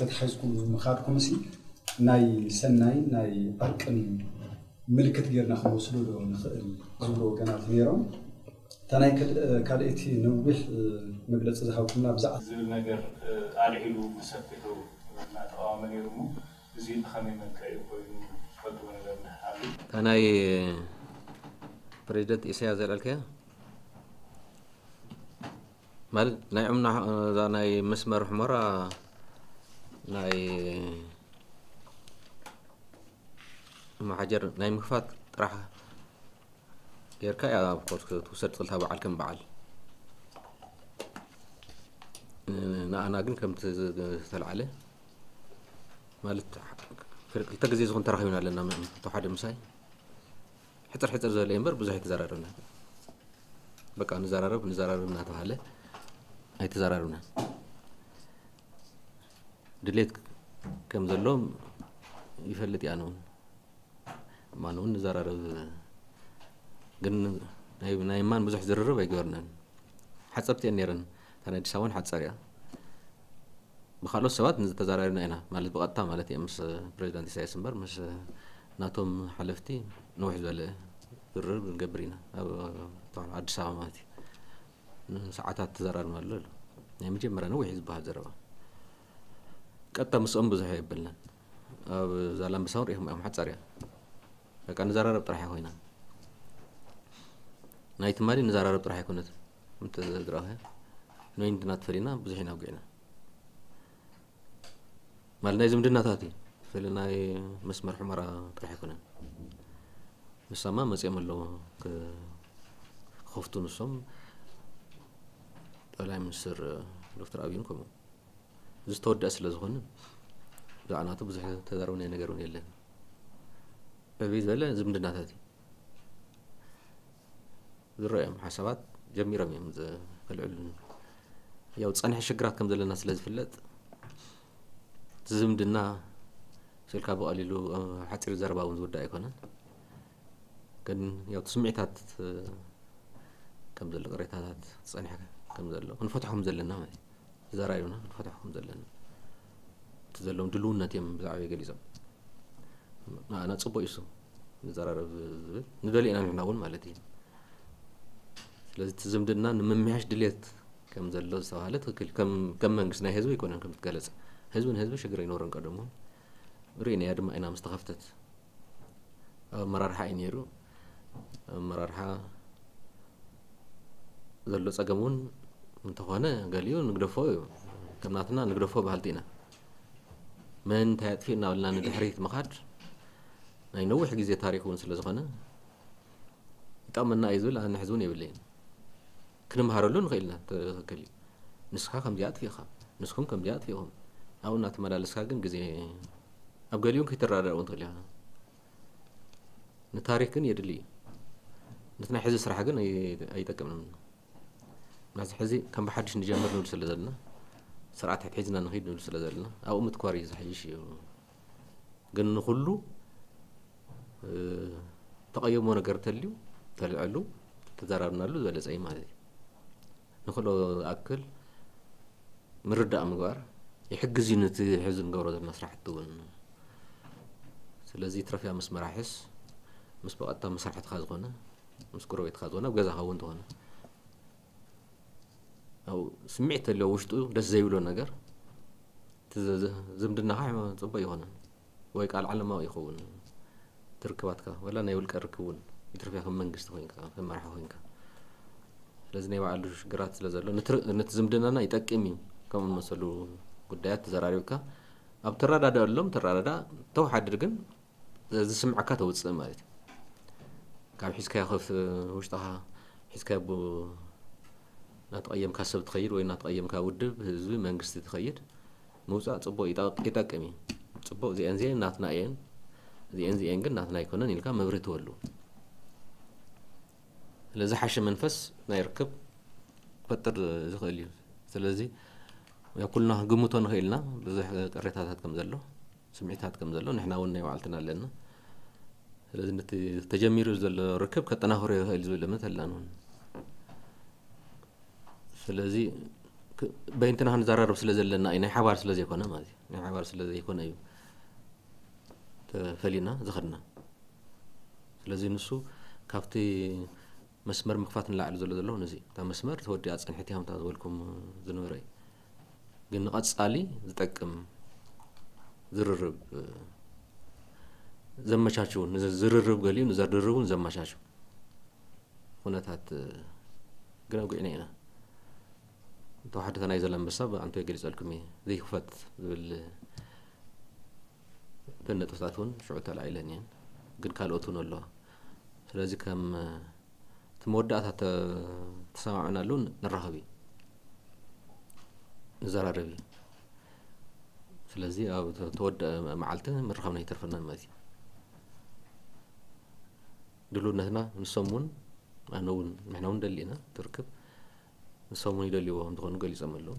ተተሓሒዝኩም ምኻድኩም ሲ ናይ ሰናይ ናይ ዕርቅን ምልክት ጌርና ክንወስዶ ዶ ንኽእል ዝብሉ ወገናት ነይሮም። እታ ናይ ካልእ እቲ ነዊሕ መግለፂ ዝሃብኩምና ብዛዕባ ዝብል ነገር ኣልዒሉ ብሰፊሑ እናተቃወመ ነይሩ እሞ እዚ ብኸመይ መልክዕ እዩ ኮይኑ ትፈልጥዎ ነገር ኣሎ? እታ ናይ ፕሬዚደንት ኢሳያስ ዘልዐልካያ ማለት ናይ ዑምና እዛ ናይ መስመር ሑመራ ናይ መሓጀር ናይ ምክፋት ጥራሕ ጌርካ እያ ኣብ ኮርስ ክትውሰድ ትኽእል እታ በዓል ከም በዓል። ንኣና ግን ከምቲ ዝተልዓለ ማለት ክልተ ግዜ ዝኾን ተራኺብና ኣለና። እቶ ሓደ ምሳይ ሕፅር ሕፅር ዝበለ እምበር ብዙሕ ኣይተዘራረብና። በቃ ንዘራረብ ንዘራረብ እናተባሃለ ኣይተዘራረብና። ድሌት ከም ዘሎ ይፈልጥ እያ ንውን ማን እውን ንዘራረብ ግን ናይ ናይ ማን ብዙሕ ዝርርብ ኣይገበርናን። ሓፀርቲ እየን ነይረን። እታ ናይ ኣዲስ ኣበባን ሓፀር እያ። ብካልኦት ሰባት ንዝተዘራሪብና ኢና ማለት ብቐጥታ ማለት እየ ምስ ፕሬዚዳንት ኢሳያስ እምበር ምስ ናቶም ሓለፍቲ ነውሕ ዝበለ ዝርርብ ንገብር ኢና ኣብ ኣዲስ ኣበባ ማለት እዩ። ንሰዓታት ተዘራርብና ኣሎ ኣሎ ናይ መጀመርያ ነዊሕ ዝበሃል ዘረባ ቀጥታ ምስኦም ብዙሕ የብልናን። ኣብ ዛላምበሳ እውን ሪኢኹም እዮም ሓፃር እያ። በቃ ንዘራረብ ጥራሕ ኮይና ናይ ትማሊ ንዘራረብ ጥራሕ ኣይኮነትን። እንተ ዝረኣኸ ንወይን ድና ትፈሊና ብዙሕ ኢና ውግዕና ማለት ናይ ዝምድናታት እዩ። ስለ ናይ መስመር ሑመራ ጥራሕ ኣይኮነን። ንሳማ መፅኦም ኣለዎ ክኸፍቱ ንሶም ጠቅላይ ሚኒስትር ዶክተር ኣብይን ከምኡ ዝተወደአ ስለ ዝኾነ ብዛዕባ ናቱ ብዙሕ ተዛረብናዮ ነገር እውን የለን። ዕብይ ዝበለ ዝምድናታት እዩ ዝረኦም ሓሳባት ጀሚሮም እዮም ከልዕሉ። ያው ፀንሐ ሽግራት ከም ዘለና ስለ ዝፍለጥ ዝምድና ስልካ ብቐሊሉ ሓፂር ዘረባ እውን ዝውዳእ ኣይኮነን። ግን ያው ስምዒታት ከም ዘሎ ቅሬታታት ዝፀንሐ ከም ዘሎ ክንፈትሖ ከም ዘለና ማለት እዩ። ተዘራሪብና ንፈትሖ ከም ዘለና እቲ ዘለዎም ድልውነት እዮም ብዛዕባ ገሊፆም። ንኣና ፅቡቅ እዩ ንዘራረብ ዝብል ንደሊ ኢና ንሕና እውን ማለት እዩ። ስለዚ እቲ ዝምድና ንምምያሽ ድሌት ከም ዘሎ ዝተባሃለ ትክክል ከም መንግስቲ ናይ ህዝቢ ኣይኮነን ከም ትገለፀ ህዝቢ ንህዝቢ ሽግር ኣይኖረን ቀደሙ ርኢናያ ድማ ኢና ምስ ተኸፍተት ኣብ ኣመራርሓ እዩ ነይሩ። ኣመራርሓ ዘሎ ፀገም እውን እንተኾነ ገሊኡ ንግደፎ እዩ። ከም ናትና ንግደፎ በሃልቲ ኢና። መን እንታይ ኣጥፊኡ እናበልና ንድሕሪት ምኻድ ናይ ነዊሕ ግዜ ታሪክ እውን ስለ ዝኾነ ይጠቕመና እዩ ዝብል ኣነ ሕዚ እውን የብለይን። ክንምሃረሉ ንኽእል ኢና። ትኽክል እዩ። ንስኻ ከምዚኣ ኣጥፊእኻ፣ ንስኹም ከምዚኣ ኣጥፊእኹም ኣብኡ እናተመላለስካ ግን ግዜ ኣብ ገሊኡ ከይትረዳዳእ እውን ትኽእል ኢኻ። ንታሪክ ግን የድሊ እዩ። ነቲ ናይ ሕዚ ስራሕ ግን ኣይጠቅምን። ናዚ ሕዚ ከም ብሓድሽ ንጀምር ንብል ስለ ዘለና ስርዓት ሕድሒዝና ንኽይድ ንብል ስለ ዘለና ኣብኡ ምትኳር እዩ ዝሓይሽ እዩ። ግን ንኩሉ ተቐየሞ ነገር ተልዩ ተልዐሉ ተዘራርብናሉ ዝበለፀ እዩ ማለት እዩ። ንክሎ ዝኣክል ምርዳእ ምግባር ይሕግዝ እዩ ነቲ ሕዚ ንገብሮ ዘለና ስራሕቲ እውን። ስለዚ ትረፍያ ምስ መራሕስ ምስ ብቐጥታ መሳርሕትኻ ዝኾነ ምስ ጎረቤትካ ዝኾነ ኣብ ገዛኻ እውን ዝኾነ ኣብ ስምዒት ተልዮ ውሽጡ ደስ ዘይብሎ ነገር ዝምድናኻ ፅቡቅ ይኾነ ወይ ቃል ዓለማዊ ይኸውን ትርክባትካ ወላ ናይ ውልቀ ርክብ እውን ይትርፍያ ከም መንግስቲ ኮይንካ ከም መራሒ ኮይንካ ስለዚ ናይ ባዕሉ ሽግራት ስለ ዘሎ ነቲ ዝምድናና ይጠቅም እዩ ከምኡ መሰሉ ጉዳያት ተዘራሪብካ ኣብ ተረዳድኣሎም ተረዳዳ ተወሓድር ግን ዝስምዐካ ተውፅእ ማለት እዩ። ካብ ሒዝካዮ ከፍ ውሽጥኻ ሒዝካዮ ቡ እናተቐየምካ ሰብ ትኸይድ ወይ እናተቐየምካ ውድብ ህዝቢ መንግስቲ ትኸይድ ምውፃእ ፅቡቅ ይጠቅም እዩ። ፅቡቅ እዚአን እዚአን ናትና እየን እዚአን እዚአን ግን ናትና ኣይኮነን ኢልካ መብርህ ትወሉ። ስለዚ ሓሸ መንፈስ ናይ ርክብ ክፈጥር ዝኽእል እዩ። ስለዚ ኩልና ግምቶ ንኽእል ኢና ብዙሕ ቅሬታታት ከም ዘሎ ስምዒታት ከም ዘሎ ንሕና እውን ናይ ባዕልትና ኣለና። ስለዚ ነቲ ተጀሚሩ ዘሎ ርክብ ከጠናኽሮ ይኽእል ዝብል እምነት ኣላን እውን። ስለዚ በይንትና ክንዘራረብ ስለ ዘለና እዩ፣ ናይ ሓባር ስለ ዘይኮነ ማለት እዩ። ናይ ሓባር ስለ ዘይኮነ እዩ ተፈሊና ዝኸድና። ስለዚ ንሱ ካብቲ መስመር ምኽፋት ንላዕሊ ዘሎ ዘሎ ነዚ እታ መስመር ተወዲኣ ጸንሕቲ ሃምታ ዝበልኩም ዝነበረ እዩ። ግን ንቐጻሊ ዝጠቅም ዝርርብ ዘመቻችውን፣ ንዝርርብ ገሊኡ ንዘርርቡን ዘመቻችው ኩነታት ግን ኣጉዕና ኢና። ተዋሕዶ ናይ ዘላንበሳ ብኣንቶ ገሊጸልኩም እየ። ዘይክፈት ዝብል እተን ነጥብታት እውን ሽዑ ተላዒለን እየን። ግን ካልኦት እውን ኣለዋ። ስለዚ ከም እቲ መወዳእታ ተ- ተሰማምዕናሉ ንራኸብ እዩ፣ ንዘራረብ እዩ። ስለዚ ኣብ ተ- ተወደአ መዓልቲ ምርኻብና ይተርፈና ማለት እዩ። ድልውነትና ንሶም እውን ኣነ እውን ንሕና እውን ደሊ ኢና ትርክብ ንሶም እውን ይደልይዎ ከም ዝኾኑ ገሊጾም ኣለዉ።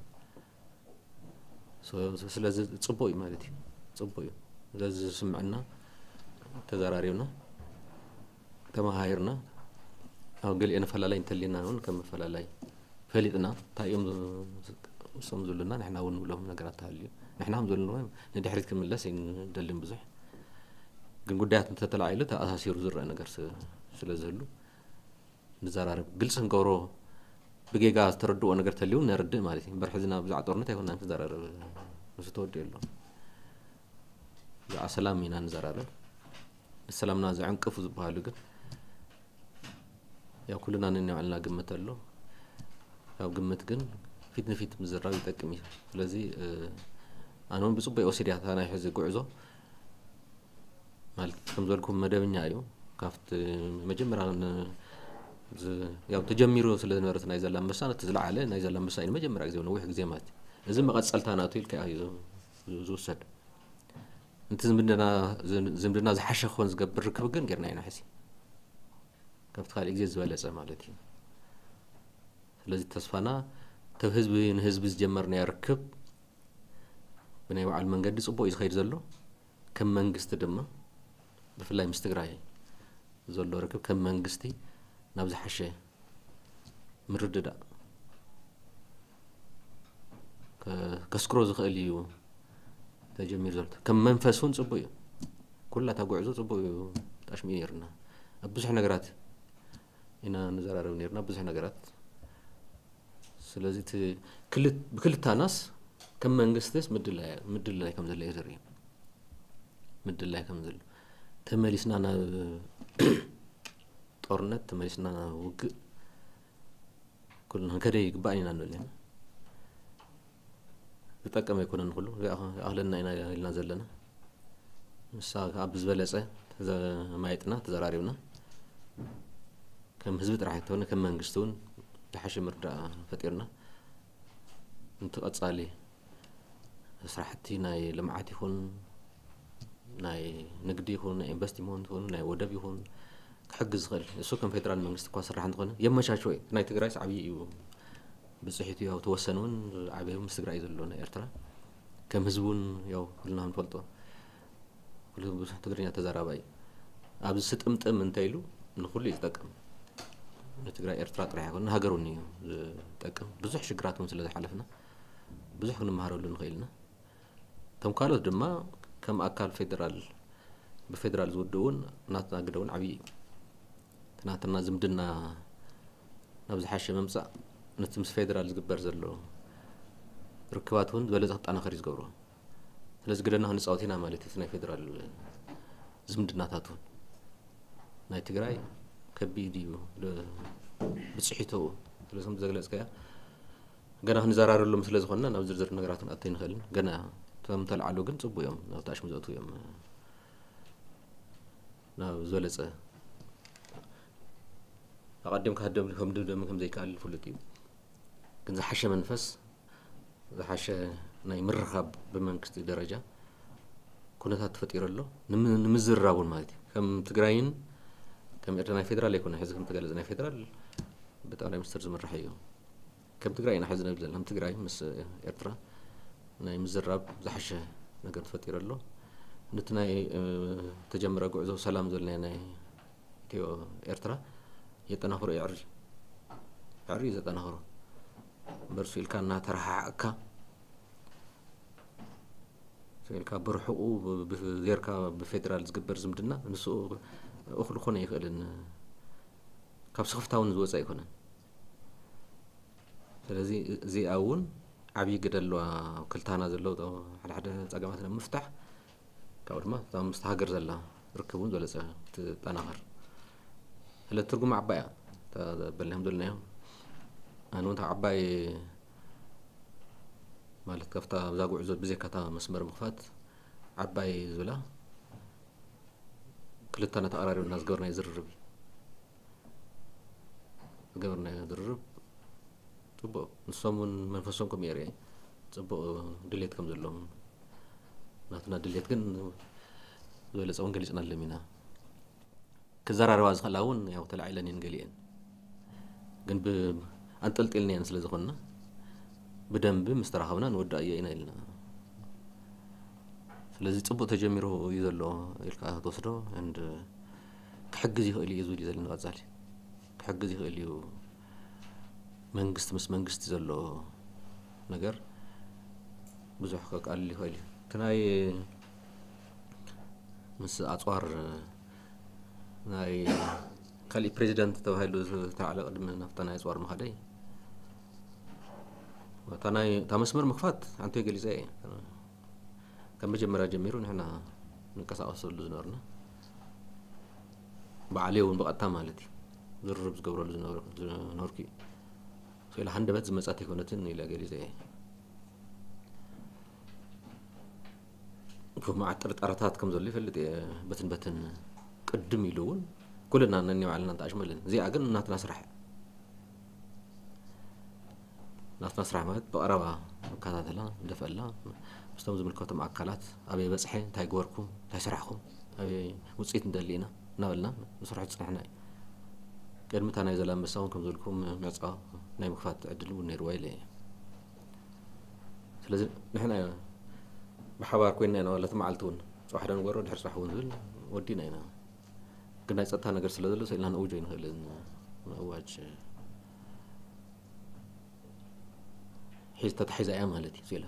ሶ- ስለዚ ጽቡቅ እዩ ማለት እዩ። ጽቡቅ እዩ። ስለዚ ዝስምዕና ተዘራሪብና ተመሃሂርና ኣብ ገሊኦ ንፈላላይ እንተሊና እውን ከም መፈላላይ ፈሊጥና እንታይ እዮም እሶም ዝብሉና ንሕና እውን ንብሎም ነገራት ተሃልዩ ንሕና ከም ዘለንዎ ንድሕሪት ክምለስ ኣይንደልን ብዙሕ። ግን ጉዳያት እንተተላዒሉ ተኣሳሲሩ ዝረአ ነገር ስ- ስለ ዝህሉ ንዘራረብ፣ ግልፂ ክንገብሮ፣ ብጌጋ ዝተረድኦ ነገር ተልዩ ነርድእ ማለት እዩ። እምበር ሕዚ ናብ ብዛዕባ ጦርነት ኣይኮናን ክንዘራረብ። ንሱ ተወዲኡ ኣሎ። ብዛዕባ ሰላም ኢና ንዘራረብ። ንሰላምና ዘዕንቅፉ ዝበሃሉ ግን ያው ኩልና ነናይ ባዕልና ግምት ኣሎ። ካብ ግምት ግን ፊት ንፊት ምዝራብ ይጠቅም እዩ። ስለዚ ኣነ እውን ብፅቡቅ ወሲድያ እታ ናይ ሕዚ ጉዕዞ ማለት ከም ዝበልኩም መደበኛ እዩ። ካብቲ መጀመርያ ን- ዝ- ያው ተጀሚሩ ስለ ዝነበረ ናይ ዛላንበሳ ነቲ ዝለዓለ ናይ ዛላንበሳ እዩ ንመጀመርያ ግዜ ነዊሕ ግዜ ማለት እዩ። እዚ መቐፀልታ ናቱ ኢልካ እዩ ዝ- ዝውሰድ። እቲ ዝምድና ዝምድና ዝሓሸ ክኾን ዝገብር ርክብ ግን ጌርና ኢና ሕዚ ካብቲ ካልእ ግዜ ዝበለፀ ማለት እዩ። ስለዚ ተስፋና ተብ ህዝቢ ንህዝቢ ዝጀመርናዮ ርክብ ብናይ ባዕሉ መንገዲ ፅቡቅ እዩ ዝኸይድ ዘሎ። ከም መንግስቲ ድማ ብፍላይ ምስ ትግራይ ዘሎ ርክብ ከም መንግስቲ ናብ ዝሓሸ ምርድዳእ ከስክሮ ዝኽእል እዩ ተጀሚሩ ዘሎ። ከም መንፈስ እውን ፅቡቅ እዩ። ኩላ እታ ጉዕዞ ፅቡቅ እዩ። ጣሽሚ ነርና ኣብ ብዙሕ ነገራት ኢና ንዘራረብ ነርና ብዙሕ ነገራት። ስለዚ ብክልታናስ ከም መንግስትስ ምድላይ ከም ዘለ እዩ ዘርኢ። ምድላይ ከም ዘሎ ተመሊስና ናብ ጦርነት ተመሊስና ናብ ውግእ ኩልና ክንከደ ይግባእ ኢና ንብል ኢና። ዝጠቀም ኣይኮነን ኩሉ ዝኣኽለና ኢና ኢልና ዘለና። ንሳ ከዓ ብዝበለፀ ተዘማይጥና ተዘራሪብና ከም ህዝቢ ጥራሕ ኣይተኾነ ከም መንግስቲ እውን ዝሓሸ ምርዳእ ፈጢርና እንትቐፃሊ ስራሕቲ ናይ ልምዓት ይኹን ናይ ንግዲ ይኹን ናይ ኢንቨስትመንት ይኹን ናይ ወደብ ይኹን ክሕግዝ ዝኽእል እሱ ከም ፌደራል መንግስቲ እኳ ስራሕ እንተኾነ የመቻችዎ እዩ። ናይ ትግራይስ ዓብዪ እዩ ብፅሒቱ ያው ተወሰን እውን ዓብዩ ምስ ትግራይ ዘሎ ናይ ኤርትራ ከም ህዝቢ እውን ያው ኩልና ንፈልጦ ኩሉ ብዙሕ ትግርኛ ተዛራባይ ኣብዚ ስጥምጥም እንተ ኢሉ ንኩሉ እዩ ዝጠቅም። ንትግራይ ኤርትራ ጥራሕ ይኮን ንሃገር እውን እዩ ዝጠቅም። ብዙሕ ሽግራት እውን ስለ ዝሓለፍና ብዙሕ ክንመሃረሉ ንኽእል ኢና። እቶም ካልኦት ድማ ከም ኣካል ፌደራል ብፌደራል ዝውድእ እውን ናትና ግደ እውን ዓብዪ እዩ። እቲ ናትና ዝምድና ናብ ዝሓሸ ምምፃእ ነቲ ምስ ፌደራል ዝግበር ዘሎ ርክባት እውን ዝበለፀ ክጠናኸር እዩ ዝገብሮ። ስለዚ ግደና ክንፃወት ኢና ማለት እዩ። ናይ ፌደራል ዝምድናታት እውን ናይ ትግራይ ከቢድ እዩ ብፅሒተኡ ስለዚ ከም ዘግለፅከያ ገና ክንዘራረሎም ስለ ዝኾንና ናብ ዝርዝር ነገራት ክንኣቶ ይንኽእልን ገና እቶም ተልዓሉ ግን ፅቡቅ እዮም ናብ ታሽሙ ዘእቱ እዮም ናብ ዝበለፀ ኣቐዲምካ ህደም ከም ድምደም ከም ዘይከኣል ይፍልጥ እዩ። ግን ዝሓሸ መንፈስ ዝሓሸ ናይ ምርኻብ ብመንግስቲ ደረጃ ኩነታት ተፈጢሩ ኣሎ። ንምዝርራብ እውን ማለት እዩ። ከም ትግራይን ከም ኤርትራ ናይ ፌደራል ኣይኮነ ሕዚ ከም ተገለጸ ናይ ፌደራል ብጠቕላይ ሚኒስትር ዝምራሕ እዩ። ከም ትግራይ ኢና ሕዚ ንብል ዘለና። ከም ትግራይ ምስ ኤርትራ ናይ ምዝራብ ዝሓሸ ነገር ተፈጢሩ ኣሎ። ነቲ ናይ ተጀመረ ጉዕዞ ሰላም ዘለና ናይ ኢትዮ ኤርትራ የጠናኽሮ እዩ። ዕሪ ዕሪ እዩ ዘጠናኽሮ። በርሱ ኢልካ እናተረሓሓቕካ ኢልካ ብርሕቑ ብ- ብ- ጌርካ ብፌዴራል ዝግበር ዝምድና ንሱ እኹል ክኾነ ኣይኽእልን። ካብ ስኽፍታ እውን ዝወፀ ኣይኮነን። ስለዚ እዚኣ እውን ዓብዪ ግደ ኣለዋ። ክልታና ዘሎ ሓደ ሓደ ፀገማት ንምፍታሕ ካብኡ ድማ እታ ምስቲ ሃገር ዘላ ርክብ እውን ዝበለፀ ክትጠናኸር ስለ ትርጉም ዓባይ እያ። በልናዮም ዘለናዮ ኣነ እውን ዓባይ ማለት ካብታ ብዛ ጉዕዞ ብዘካታ መስመር ምኽፋት ዓባይ ዝብላ ክልተና ተቐራሪብና ዝገበርናዮ ዝርርብ እዩ። ዝገበርናዮ ዝርርብ ፅቡቅ፣ ንሶም እውን መንፈሶም ከም የርኢ ፅቡቅ ድሌት ከም ዘለዎም ናትና ድሌት ግን ዝበለፀ እውን ገሊፅናሎም ኢና። ክዘራረባ ዝኽእላ እውን ያው ተላዒለን እየን ገሊአን፣ ግን ብ- ኣንጠልጢልናየን ስለ ዝኾንና ብደንቢ ምስ ተራኸብና ንወዳእዮ ኢና ኢልና። ስለዚ ፅቡቅ ተጀሚሩ እዩ ዘሎ ኢልካ ትወስዶ and ክሕግዝ ይኽእል እዩ ዝብል እዩ ዘለኒ። ቀፃሊ ክሕግዝ ይኽእል እዩ። መንግስቲ ምስ መንግስቲ ዘሎ ነገር ብዙሕ ከቃልል ይኽእል እዩ። እቲ ናይ ምስ ኣፅዋር ናይ ካሊእ ፕሬዚደንት ተባሂሉ ዝተላዕለ ቅድሚ ናብታ ናይ ኣፅዋር ምኻደይ እታ ናይ እታ መስመር ምኽፋት ኣንተ ገሊፀ እየ። ካብ መጀመርያ ጀሚሩ ንሕና ንንቀሳቀሰሉ ዝነበርና ባዕለይ እውን ብቐጥታ ማለት እዩ ዝርርብ ዝገብረሉ ዝነበርኩ እዩ። ስለ ሃንደበት ዝመፃት ኣይኮነትን ኢለ ገሊፀ እየ። ክፉ መዓት ጥርጣረታት ከም ዘሎ ይፈልጥ እየ። በትን በትን ቅድም ኢሉ እውን ኩልና ነኒ ባዕልና ንተኣሽመለን እዚኣ ግን ናትና ስራሕ እያ። ናትና ስራሕ ማለት ብቐረባ ንከታተላ ንደፈላ ምስቶም ዝምልከቶም ኣካላት ኣበይ በፅሐ እንታይ ገበርኩም እንታይ ስራሕኩም ኣበይ ውፅኢት ንደሊ ኢና እናበልና ንስርሑ ዝፅናሕና እዩ። ቅድሚ እታ ናይ ዘላንበሳ እውን ከም ዝበልኩም ምዕፃ ናይ ምክፋት ዕድል እውን ነይርዋ ኢለ እየ። ስለዚ ንሕና ብሓባር ኮይና ኢና ዋላ እቲ መዓልቲ እውን ፅባሕ ዶ ንገሮ ድሕሪ ፅባሕ እውን ዝብል ወዲና ኢና። ግን ናይ ፀጥታ ነገር ስለ ዘሎ ሰኢልና ንእውጆ ኣይንኽእልን። ምእዋጅ ሒዝ ተታሒዛ እያ ማለት እዩ። ስኢላ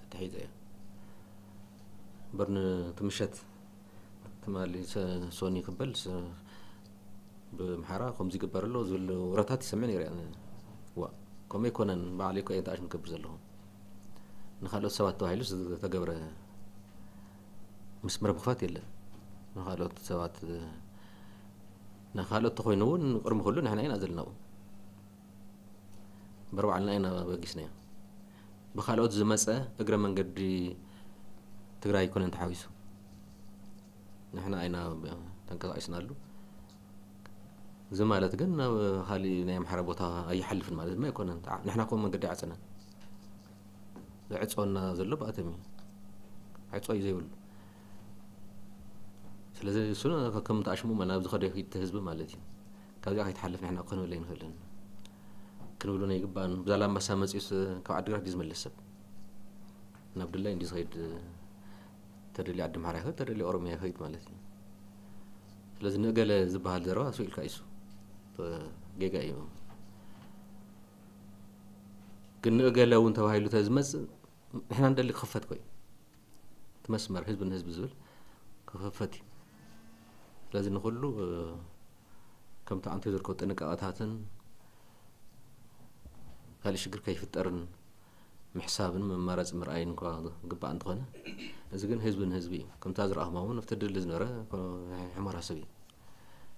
ተታሒዛ እያ እምበር ንትምሸት ትማሊ ሰ- ሶኒ ክበል ስ- ብምሓራ ከምዚ ይግበር ኣሎ ዝብል ወረታት ይሰምዕ ነይረ። ዋ ከምኡ ኣይኮነን። ባዕለይ እኮ እየ ተኣሽም ክገብር ዘለኹ። ንካልኦት ሰባት ተባሂሉ ዝተገብረ ምስምር ምኽፋት የለን። ንካልኦት ሰባት ንካልኦት ተኮይኑ እውን ቅድሚ ኩሉ ንሕና ኢና ዘለና። እምበር ባዕልና ኢና በጊስናዮ። ብካልኦት ዝመፀ እግረ መንገዲ ትግራይ ኣይኮነን ተሓዊሱ። ንሕና ኢና ተንቀሳቂስናሉ። እዚ ማለት ግን ናብ ካሊእ ናይ ኣምሓራ ቦታ ኣይሓልፍን ማለት ድማ ኣይኮነን። ንሕና ከምኡ መንገዲ ኣይዓፀናን። ዘዕፀወና ዘሎ ብኣቶም እዩ። ዕፀ እዩ ዘይብሉ። ስለዚ እሱ ከም ተኣሽሙ ናብ ዝኸደ ፊት ህዝቢ ማለት እዩ። ካብዚኣ ከይትሓልፍ ንሕና ክንብል ኣይንኽእልን። ክንብሉ ናይ ግባን ብዛላምባሳ መፂኡስ ካብ ዓዲግራት ድዩ ዝመለስ ሰብ? ናብ ድላይ እንዲ ዝኸይድ ተደልዩ ዓዲ ኣምሓራ ይኸይድ ተደልዩ ኦሮሚያ ይኸይድ ማለት እዩ። ስለዚ ንእገለ ዝበሃል ዘረባ እሱ ኢልካ እዩ እሱ ጌጋ እዩ። ግን ንእገለ እውን ተባሂሉ ተዝመፅእ ንሕና ንደሊ ክኽፈት ኮይ እቲ መስመር ህዝቢ ንህዝቢ ዝብል ክኽፈት እዩ። ስለዚ ንኩሉ ከምቲ ኣንተ ዝርከቡ ጥንቃቐታትን ካልእ ሽግር ከይፍጠርን ምሕሳብን መማረፂ ምርኣይን እንኳ ግባእ እንተኾነ፣ እዚ ግን ህዝቢ ንህዝቢ እዩ። ከምታ ዝረኣኹማ እውን ኣብቲ ድል ዝነበረ ሕሞራ ሰብ እዩ።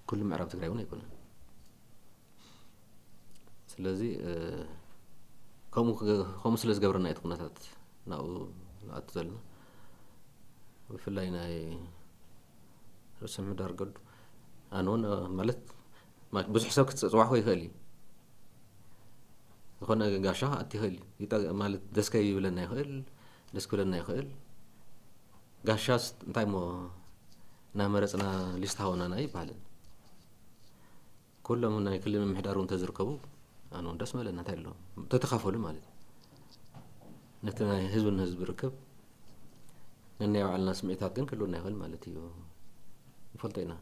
ኩሉ ምዕራብ ትግራይ እውን ኣይኮነን። ስለዚ ከምኡ ስለ ዝገብረና እዩ እቲ ኩነታት ናብኡ ንኣቱ ዘለና። ብፍላይ ናይ ርእሰ ምሕዳር ገዱ ኣነ እውን ማለት ብዙሕ ሰብ ክትፅዋዕኮ ይኽእል እዩ። ዝኾነ ጋሻ ክኣቲ ይኽእል እዩ። ማለት ደስከ ይብለና ይኽእል፣ ደስ ክብለና ይኽእል። ጋሻስ እንታይ እሞ እናመረፅና ሊስት ሃወናና ይበሃልን። ኩሎም ናይ ክልል ምምሕዳር እውን ተዝርከቡ ኣነ እውን ደስ መለና። እንታይ ኣሎ ተተኻፈሉ ማለት እዩ። ነቲ ናይ ህዝቢ ንህዝቢ ርክብ ነናይ ባዕልና ስምዒታት ግን ክህልወና ይኽእል ማለት እዩ። ንፈልጦ ኢና።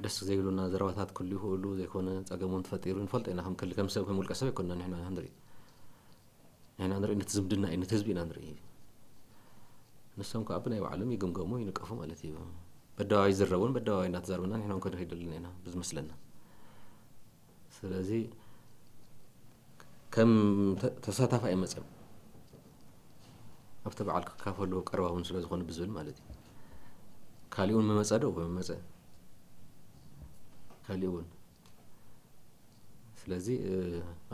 ደስ ዘይብሉና ዘረባታት ክህሉ ይኽእሉ፣ ዘይኮነ ጸገም እውን ተፈጢሩ ንፈልጦ ኢና። ከም ክል ከም ሰብ ከም ውልቀ ሰብ ኣይኮንና ንሕና ንርኢ። ንሕና ንርኢ፣ ነቲ ዝምድና እዩ፣ ነቲ ህዝቢ ኢና ንርኢ። ንሶም ከዓ ብናይ ባዕሎም ይግምገሙ፣ ይንቀፉ ማለት እዩ። በደባባይ ይዝረቡን በደባባይ እናተዛረብና ንሕና እውን ክንኸይደልና ኢና ብዝመስለና። ስለዚ ከም ተ- ተሳታፋይ እዮም መፅኦም፣ ኣብቲ በዓል ክካፈሉ ቀረባ እውን ስለ ዝኾኑ ብዝብል ማለት እዩ። ካሊእ እውን መመፀ ዶ መመፀ፣ ካሊእ እውን። ስለዚ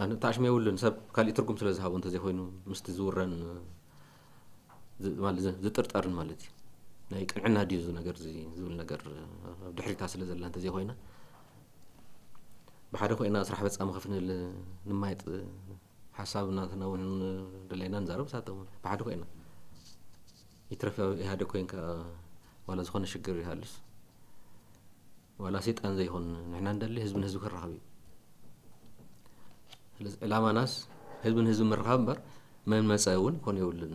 ኣነ ተኣሽመ የብሉን፣ ሰብ ካሊእ ትርጉም ስለ ዝሃቦ እንተዘይኮይኑ፣ ምስቲ ዝውረን ማለት ዝጥርጠርን ማለት እዩ። ናይ ቅንዕና ድዩ እዚ ነገር እዚ ዝብል ነገር ኣብ ድሕሪታ ስለ ዘላ እንተዘይኮይና፣ ብሓደ ኮይና ስራሕ በፃ ምኽፍንል ንማይጥ ሓሳብ እናተናውን ደለና ንዛረብ ሳቶም ብሓደ ኮይና ይትረፍ ኢህኣደ ኮይንካ ዋላ ዝኾነ ሽግር ይሃልስ ዋላ ሰይጣን ዘይኮን ንሕና እንደሊ ህዝብን ህዝቢ ክራኸብ እዩ። ስለዚ ዕላማናስ ህዝብን ህዝቢ ምርኻብ እምበር መን መፀ እውን ኮን የብሉን።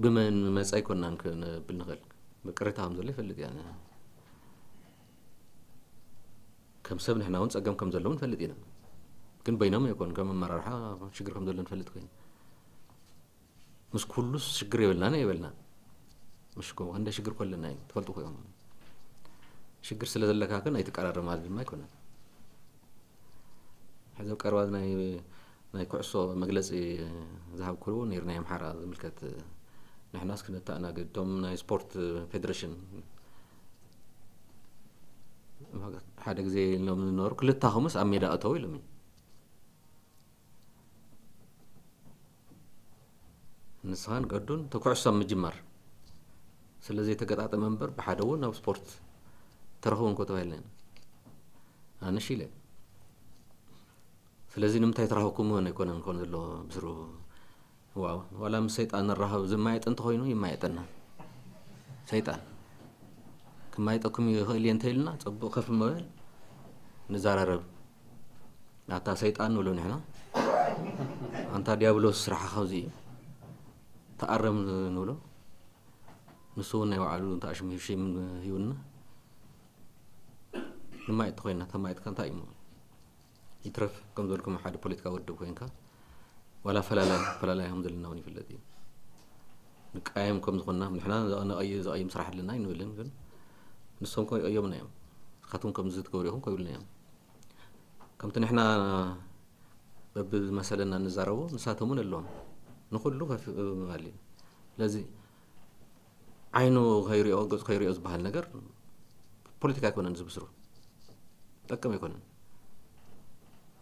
ብመን መፀ ኣይኮናን ክንብል ንኽእል። ቅሬታ ከም ዘሎ ይፈልጥ እያ። ከም ሰብ ንሕና እውን ፀገም ከም ዘለዉ ንፈልጥ ኢና። ግን በይኖም ኣይኮን ከም ኣመራርሓ ሽግር ከም ዘሎ ንፈልጥ ኮይኑ ምስ ኩሉስ ሽግር የብልናን የብልና። ምሽ ኮ እንደ ሽግር ኮለና እዩ ትፈልጡ ኮይም ሽግር ስለ ዘለካ ግን ኣይትቀራረብ ማለት ድማ ኣይኮነን። ሕዚ ቀርባ ናይ ናይ ኩዕሶ መግለፂ ዝሃብኩ ነይሩ ናይ ኣምሓራ ዝምልከት ንሕናስ ክነተኣናግድ እቶም ናይ ስፖርት ፌደሬሽን ሓደ ግዜ ኢሎም ዝነበሩ ክልታኹምስ ኣብ ሜዳ እተው ኢሎም እዩ። ንስኻን ገዱን ተኩዕሶ ኣብ ምጅማር ስለ ዘይተገጣጠመ እምበር ብሓደ እውን ኣብ ስፖርት ተረኽቡ እንኮ ተባሂልና ኢና ኣነሽ ኢለ። ስለዚ ንምንታይ ተራኸብኩም እውን ኣይኮነን ኮን ዘሎ ብስሩ። ዋው ዋላ ምስ ሰይጣን ንራኸብ ዝማየጥ እንተኾይኑ ይማየጠና። ሰይጣን ክማየጠኩም ይኽእል እየ እንተኢልና ፅቡቕ ከፍ መበል ንዘራረብ። ኣታ ሰይጣን ንብሎ ንሕና ኣንታ ዲያብሎስ ስራሕኻ እዚ እዩ ተኣረም ንብሎ። ንሱ እውን ናይ ባዕሉ ተኣሽሙ ሽም ሂውና ንማየጥ ተኮይና ተማየጥካ እንታይ እዩ ይትረፍ ከም ዘልኩም ሓደ ፖለቲካ ወድብ ኮይንካ ዋላ ፈላላይ ፈላላይ ከም ዘለና እውን ይፍለጥ እዩ። ንቃየም ከም ዝኾንና ንሕና ንቐይ- ዘቐይም ስራሕ ኣለና ኣይንብልን ግን ንሶም ኮ ይቐየሙና እዮም። ንስኻትኩም ከምዚ ትገብሩ ኢኹም ኮይብልና እዮም። ከምቲ ንሕና በብዝመሰለና ንዛረቦ ንሳቶም እውን ኣለዎም ንኩሉ ከፍ ምባል እዩ። ስለዚ ዓይኑ ከይሪኦ ገፁ ከይሪኦ ዝበሃል ነገር ፖለቲካ ኣይኮነን ዝብስሩ ጠቅም ኣይኮነን።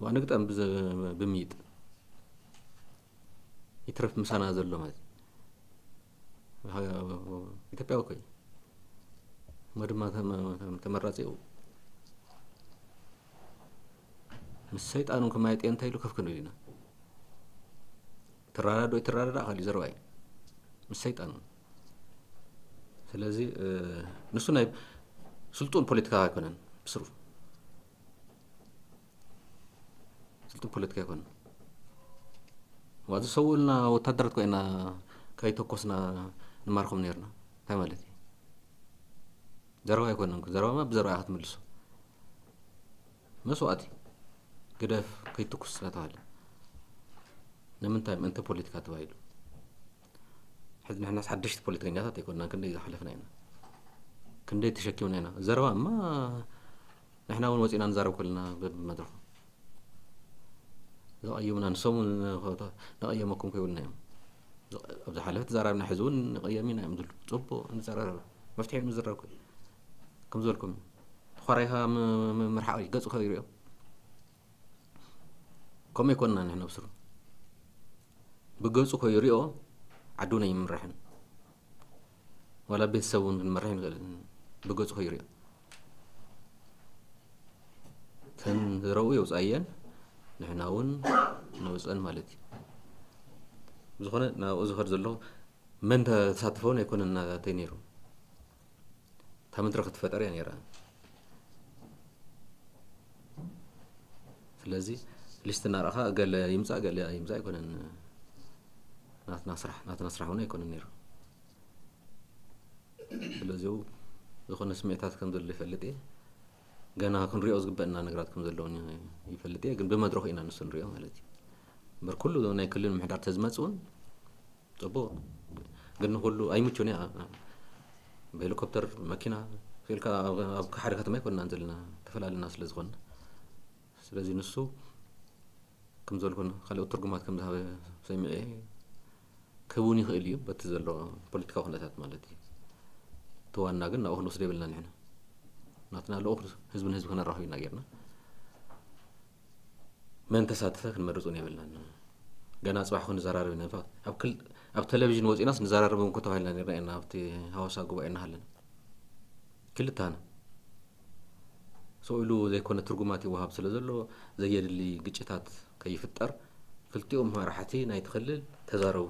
ዋ ንግጠም ብዝ- ብምይጥ ይትረፍ ምሳና ዘሎ ማለት ኢትዮጵያ እኮ እዩ። እሞ ድማ ተመ- ተመራፂ እዩ። ምስ ሰይጣን እውን ከማየጥ እየ እንታይ ኢሉ ከፍ ክንብል ኢና። ትረዳዶ ይትረዳዳ ካሊእ ዘረባ እዩ ምስ ሰይጣን እውን። ስለዚ ንሱ ናይ ስልጡን ፖለቲካ ኣይኮነን ብስሩ ስልጡን ፖለቲካ ኣይኮነን። ዋ ዝሰውኡልና ወታደራት ኮይና ከይተኮስና ንማርኮም ነርና እንታይ ማለት እዩ? ዘረባ ኣይኮነን። ዘረባማ ብዘረባ ክትምልሶ መስዋእቲ ግደፍ ከይትኩስ እናተባሃለ ንምንታይ ምእንቲ ፖለቲካ ተባሂሉ? ሕዚ ንሕናስ ሓደሽቲ ፖለቲከኛታት ኣይኮንና፣ ክንደይ ዝሓለፍና ኢና፣ ክንደይ ተሸኪምና ኢና። ዘረባ እማ ንሕና እውን ወፂና ንዛረብ ከለና በብመድረኹ ዘቐይሙና ንሶም እውን ነቐየመኩም ከይብልና እዮም። ኣብ ዝሓለፈ ተዛራብና ሕዚ እውን ንቐየም ኢና እዮም ዝብሉ። ፅቡቕ ንዘራረብ መፍትሒ ንዝረብ ከም ዝበልኩም ተኾራይኻ ምርሓቕ ገፁ ከይሪኦ ከምኡ ይኮንና ንሕና ብስሩ ብገፁ ከይሪኦ ዓዱ ናይ ይምራሕን ዋላ ቤተሰብ እውን ክንመርሕ ንኽእል ብገፁ ከይሪኦ ተን ዝረኡ የውፃየን ንሕና እውን ነውፀን ማለት እዩ። ብዝኾነ ናብኡ ዝኸድ ዘለኹ መን ተሳትፈውን ኣይኮነን ናተይ ነይሩ እታ መድረኽ ትፈጠር እያ ነይራ። ስለዚ ሊስት እናረእኻ ገለ ይምፃእ ገለ ይምፃእ ኣይኮነን ናትና ስራሕ ናትና ስራሕ እውን ኣይኮነን ነይሩ። ስለዚ ዝኾነ ስምዒታት ከም ዘሎ ይፈልጥ እየ። ገና ክንሪኦ ዝግበአና ነገራት ከም ዘለውን ይፈልጥ እየ። ግን ብመድረኹ ኢና ንሱ ንሪኦ ማለት እዩ። እምበር ኩሉ ናይ ክልል ምሕዳር ተዝመጽእ እውን ጽቡቕ። ግን ንኹሉ ኣይምቹን እያ። ብሄሊኮፕተር፣ መኪና ኢልካ ኣብ፣ ኣብ ሓደ ከተማ ኣይኮንናን ዘለና፣ ተፈላለና ስለ ዝኾንና። ስለዚ ንሱ ከም ዘልኩን ካልኦት ትርጉማት ከም ዝሃበ ሰሚዐ ክህቡን ይኽእል እዩ፣ በቲ ዘሎ ፖለቲካዊ ኩነታት ማለት እዩ። እቲ ዋና ግን ናብኡ ክንወስዶ የብልና ንሕና። ናትና ልኡኽ ህዝቢ ንህዝቢ ክነራኽብ ኢና ጌርና። መን ተሳተፈ ክንመርጽ እውን የብልናን። ገና ጽባሕ ክንዘራረብ ኢና። ኣብ ክል-፣ ኣብ ቴሌቪዥን ወጺናስ ንዘራረብ እውን ተባሂልና ኔርና ኢና፣ ኣብቲ ሃዋሳ ጉባኤ እናሃለና። ክልተና ሰው ኢሉ ዘይኮነ ትርጉማት ይወሃብ ስለ ዘሎ፣ ዘየድሊ ግጭታት ከይፍጠር፣ ክልቲኦም መራሕቲ ናይቲ ክልል ተዛረቡ።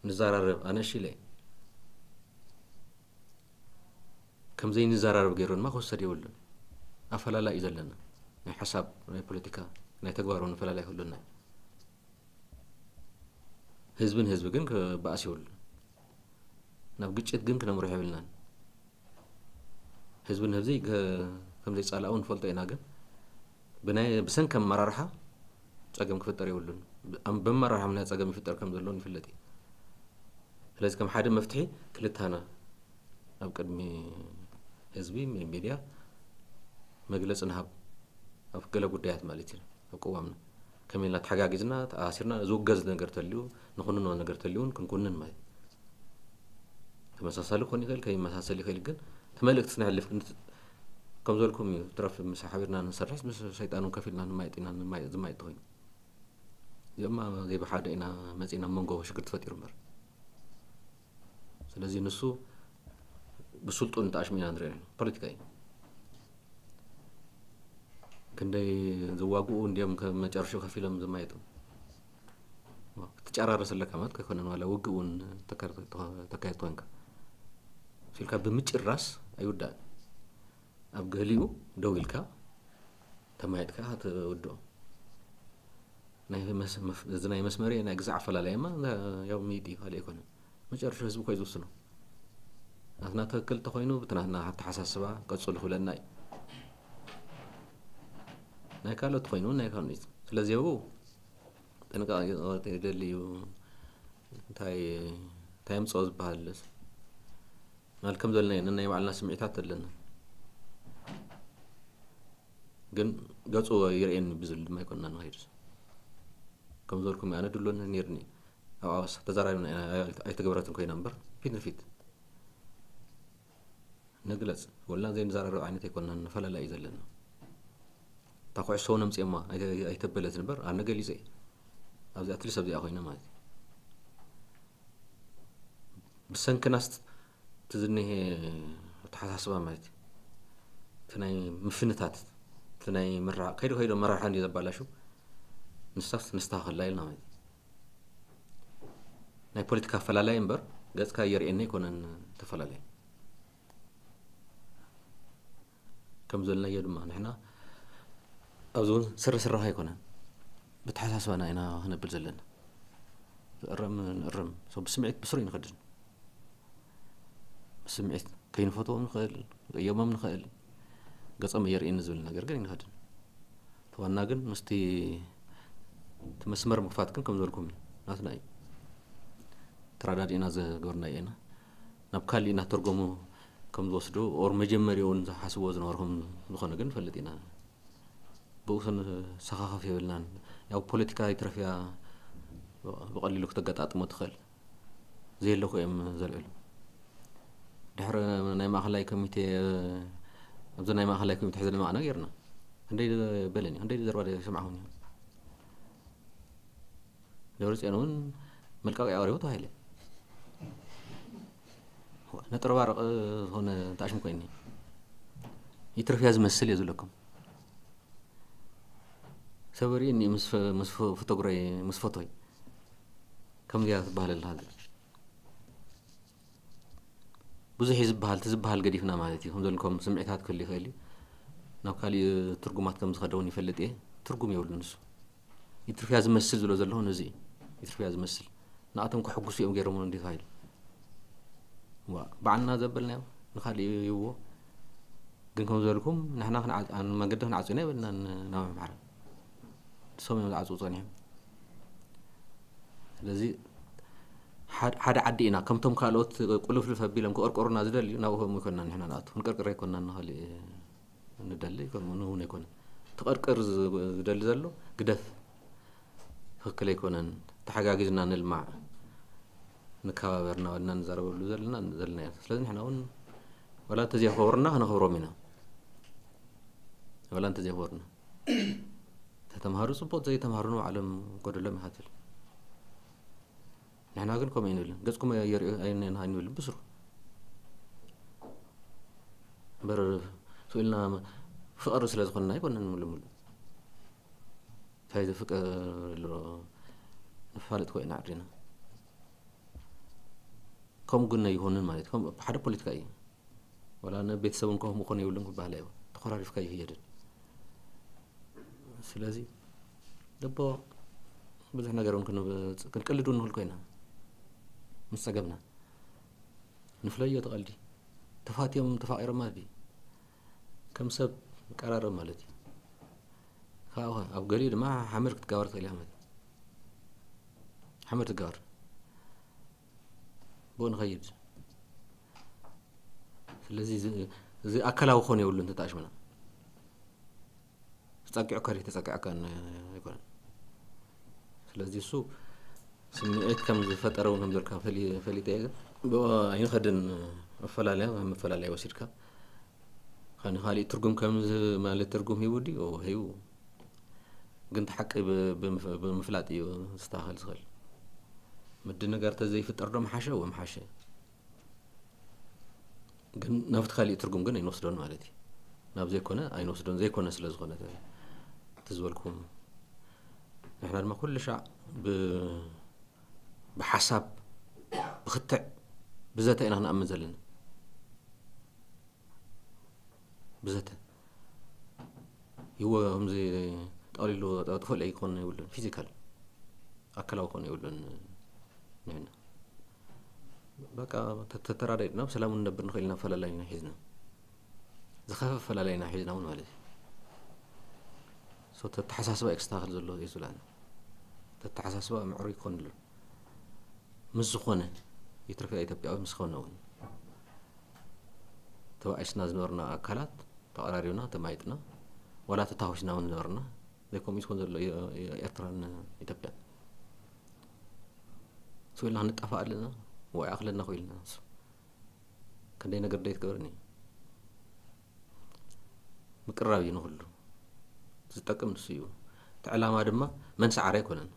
ንዘራረብ፣ ኣነ እሺ ኢለ። ከም ዘይንዘራረብ ገይሩ ድማ ክውሰድ የብሉን። ኣፈላላይ እዩ ዘለና። ናይ ሓሳብ፣ ናይ ፖለቲካ፣ ናይ ተግባር እውን ኣፈላላይ ክህሉና እዩ። ህዝብን ህዝቢ ግን ክበኣስ የብሉን። ናብ ግጭት ግን ክነምርሖ የብልናን። ህዝብን ህዝቢ ከ-፣ ከም ዘይጻላእ እውን ንፈልጦ ኢና፣ ግን ብናይ፣ ብሰንኪ ኣመራርሓ ጸገም ክፍጠር የብሉን። ብ-፣ ኣም-፣ ብኣመራርሓ ምኽንያት ጸገም ይፍጠር ከም ዘሎ ንፍለጥ እዩ። ስለዚ ከም ሓደ መፍትሒ ክልተና ኣብ ቅድሚ ህዝቢ፣ ሚ-፣ ሚድያ መግለጺ ንሃብ፣ ኣብ ገለ ጉዳያት ማለት እዩ፣ ኣብ ቅዋምና ከመይ ኢልና ተሓጋጊዝና፣ ተኣሳሲርና፣ ዝውገዝ ነገር ተልዩ፣ ንኹንኖ ነገር ተልዩ እውን ክንኩንን ማለት እዩ። ተመሳሳሊ ክኾን ይኽእል፣ ከይመሳሰል ይኽእል፣ ግን እቲ መልእክቲ ስነሕልፍ ግን ከም ዘልኩም እዩ። ትረፍ ምስ ሓቢርና ንሰርሕስ ምስ ሰይጣን እውን ከፊልና ንማይጥ ኢና፣ ንማይ-፣ ዝማይጥ ተኾይኑ። እዚኦም ዘይብሓደ ኢና መጺና መንጎ ሽግር ተፈጢሩ እምበር። ስለዚ ንሱ ብስልጡን ተኣሽሚና ንሪኦ ኢና። ፖለቲካ እዩ። ክንደይ ዝዋግኡ እንዲዮም ከም መጨረሻ ከፊሎም ዝማየጡ። ክትጨራረስ ኣለካ ማለት ከይኮነን ዋላ ውግእ እውን ተካየድ፣ ተካየድ ኮንካ። ሲልካ ብምጭራስ ኣይውዳእን። ኣብ ገሊኡ ደው ኢልካ ተማየጥካ ትውድኦ። ናይ መስ-፣ መፍ-፣ እዚ ናይ መስመር ናይ ግዛዕ ኣፈላላይማ ያው ሚድ እዩ፣ ካልእ ኣይኮነን። መጨረሻ ህዝቢ ኮይ ዝውስኖ። ናትና ትክክል ተኾይኑ፣ ብቲ ናትና ኣተሓሳስባ ቀጽሉ ክብለና እዩ። ናይ ካልኦት ኮይኑ ናይ ካልኦት። ስለዚ ኣብኡ ጥንቃቄ ይደሊ እዩ። እንታይ፣ እንታይ የምጽኦ ዝበሃል ማለት ከም ዘለና እዩ። ናይ ባዕልና ስምዒታት ኣለና። ግን ገጹ ይርእየኒ ብዝብል ድማ ኣይኮንና ንኸይድ። ከም ዝበልኩም ኣነ ድሎን ነይርኒ። ኣብ ኣዋሳ ተዛራቢና ኢና፣ ኣይተገበረትን ኮይና እምበር ፊት ንፊት ንግለጽ። ወልና ዘይንዘራረብ ዓይነት ኣይኮንና፣ ንፈላለ እዩ ዘለና። እታ ኩዕሶ እውን ኣምጽኦማ ኣይተ-፣ ኣይተበለት እምበር ኣነ ገሊጸ እየ። ኣብዚ ኣትሊስት ኣብዚኣ ኮይነ ማለት እዩ። ብሰንክናስ እቲ ዝኒሄ ኣተሓሳስባ ማለት እዩ። እቲ ናይ ምፍንታት፣ እቲ ናይ ምርሓቕ፣ ከይዱ ከይዱ ኣመራርሓ እንድዩ ዘባላሹ፣ ንሳስ ነስተኻኽላ ኢልና ማለት እዩ። ናይ ፖለቲካ ኣፈላላይ እምበር ገጽካ የርእየኒ ኣይኮነን ተፈላለየ። ከም ዘለናዮ ድማ ንሕና ኣብዚ እውን ስረ ስረኻ ኣይኮነን፣ ብተሓሳስባና ኢና ክነብል ዘለና። ዝእረም ንእረም፣ ሰብ ብስምዒት ብስሩ ይንኸድን። ብስምዒት ከይንፈትዎም ንኽእል፣ ንቅየሞም ንኽእል፣ ገጾም የርእየኒ ዝብል ነገር ግን ይንኸድን። እቲ ዋና ግን ምስቲ እቲ መስመር ምኽፋት ግን ከም ዝበልኩም እዩ፣ ናትና እዩ። ተረዳዲእና ዝገበርናዮ ኢና። ናብ ካሊእ እናተርጎሙ ከም ዝወስዱ ኦር መጀመሪያ እውን ዝሓስብዎ ዝነበሩ ከም ዝኾነ ግን ንፈልጥ ኢና። ብኡ ክንሰኻኸፍ የብልናን። ያው ፖለቲካ ይትረፍያ ብቐሊሉ ክተገጣጥሞ ትኽእል። ዘየለኩ እዮም ዘልዕሉ። ድሕሪ ናይ ማእኸላይ ኮሚቴ፣ ኣብዚ ናይ ማእኸላይ ኮሚቴ ሕዚ ልማዕና ጌርና። ክንደይ በለኒ፣ ክንደይ ዘረባ ሰማዕኹም። ደብረጽዮን እውን መልቀቂያ ኣቕሪቡ ተባሂለ። ነጠርባርቕ ዝኾነ ተኣሽሙ ኮይኒ። ይትረፍያ ዝመስል እየ ዝብለኩም። ሰበሪ እኒ ምስ ፈ-፣ ምስ ፈ-፣ ፎቶግራይ፣ ምስ ፎቶይ። ከምዚያ ትበሃል ኣለኻ። ብዙሕ እዩ ዝበሃል፣ እቲ ዝበሃል ገዲፍና ማለት እዩ። ከም ዘልኩም ስምዒታት ክህሉ ይኽእል እዩ። ናብ ካሊእ ትርጉማት ከም ዝኸደ እውን ይፈልጥ እየ። ትርጉም የብሉን ንሱ። ይትርፍያ ዝመስል ዝብሎ ዘለኹ ነዚ እዩ። ይትርፍያ ዝመስል። ንኣቶም ከሕጉሱ እዮም ገይሮምሉ እንዲዩ ተባሂሉ። ዋ፣ ባዕልና ዘበልናዮ ንኻሊእ ይህብዎ። ግን ከም ዝበልኩም ንሕና ክንዓ-፣ ን-፣ መንገዲ ክንዓጽው ኢና የብልናን ናብ ኣምሓራ። ንሶም እዮም ዝዓጽው ጸኒሖም። ስለዚ ሓደ ዓዲ ኢና። ከምቶም ካልኦት ቁልፍልፍ ኣቢሎም ክቕርቅሩና ዝደልዩ፣ ናብኦም ይኮንና ንሕና ንኣቱ ክንቅርቅር ኣይኮንና ንኸልእ ንደሊ ከምኡ ንውን ኣይኮነ። ትቐርቅር ዝደሊ ዘሎ ግደፍ፣ ትኽክል ኣይኮነን፣ ተሓጋጊዝና ንልማዕ፣ ንከባበር እናበልና ንዛረበሉ ዘለና ዘለና ኢና። ስለዚ ንሕና እውን ዋላ እንተዘይኸበሩና ከነኽብሮም ኢና። ዋላ እንተዘይኸበሩና ተተምሃሩ ጽቡቕ፣ ዘይተምሃሩ ንባዕሎም ጎደሎም ይኸትል። ንሕና ግን ከምኡ ኣይንብልን። ገጽኩም የርእዩ ኣይንብልን ብስሩ። እምበር ስኢልና ፍቐሩ ስለ ዝኾንና ኣይኮነን። ምልምሉ እንታይ ዘፍቀር ኣሎ ንፋለጥ ኮይና ዓድና። ከምኡ ግን ኣይኾንን ማለት ከም ሓደ ፖለቲካ እዩ። ወላ ንቤተሰብ እንኳ ምኾን የብሉን ክበሃል ኣይዎ ተኮራሪፍካ ይህየድን። ስለዚ ደቦ ብዙሕ ነገር እውን ክንብ- ክንቅልድ እውን ንኽእል ኮይና ምስ ጸገምና ንፍለዮ ተቐልዲ ተፋትዮም ተፋቒሮም ማለት እዩ። ከም ሰብ ቀራረብ ማለት እዩ። ካብኡ ኣብ ገሊኡ ድማ ሓመድ ክትጋበር ትኽእል ኢኻ ማለት እዩ። ሓመድ ትጋበር ብኡ ንኸይድ። ስለዚ እዚ- እዚ ኣካላዊ ክኾን የብሉን ተተኣሽምና። ተጸጊዑ ከሪ ተጸጊዑ ኣይኮነን። ስለዚ እሱ ስምዒት ከም ዝፈጠረ እውን ከም ዘልካ ፈሊ- ፈሊጠ እየ። ግን ብኡ ኣይንኸድን። መፈላለያ መፈላለያ ወሲድካ ካን ካሊእ ትርጉም ከም ዝህብ ማለት ትርጉም ሂቡ ድዩ? ሂቡ። ግን እቲ ሓቂ ብ- ብምፍ- ብምፍላጥ እዩ ዝስተኻኸል ዝኽእል። ምድንጋር ተዘይፍጠር ዶ ምሓሸ? ወምሓሸ። ግን ናብቲ ካሊእ ትርጉም ግን ኣይንወስዶን ማለት እዩ። ናብ ዘይኮነ ኣይንወስዶን፣ ዘይኮነ ስለ ዝኾነ እቲ ዝበልኩም። ንሕና ድማ ኩሉ ሻዕ ብ- ብሓሳብ ብክትዕ ብዘተ ኢና ክንኣምን ዘለና። ብዘተ ይዎ ከምዚ ጠቕሊሉ ጠፍኦ ኣይኮን የብሉን፣ ፊዚካል ኣካላዊ ኮን የብሉን። ንሕና በቃ ተተራዳድና ብሰላም ንነብር ንኽእል ኢና። ፈላላይና ሒዝና ዝኸፈ ፈላላይና ሒዝና እውን ማለት እዩ። ሶ ተተሓሳስባ እዩ ክስተኻኸል ዘሎ እዩ ዝብላና። ተተሓሳስባ ምዕሩይ ክኾን ኣሎ ምስ ዝኾነ ይትረፍ ኢትዮጵያዊ ምስ ዝኾነ እውን ተባኢስና ዝነበርና ኣካላት ተቐራሪብና ተማይጥና ዋላ ተታኮስና እውን ዝነበርና ዘይከምኡ ዝኾን ዘሎ ኤርትራን ኢትዮጵያን ስኢልና ክንጠፋእ ኣለና ወይ ኣኽለና ኮይልና ክንደይ ነገር ደይ ትገብርኒ ምቅራብ እዩ ንኹሉ ዝጠቅም ንሱ እዩ። እቲ ዕላማ ድማ መን ሰዓረ ኣይኮነን።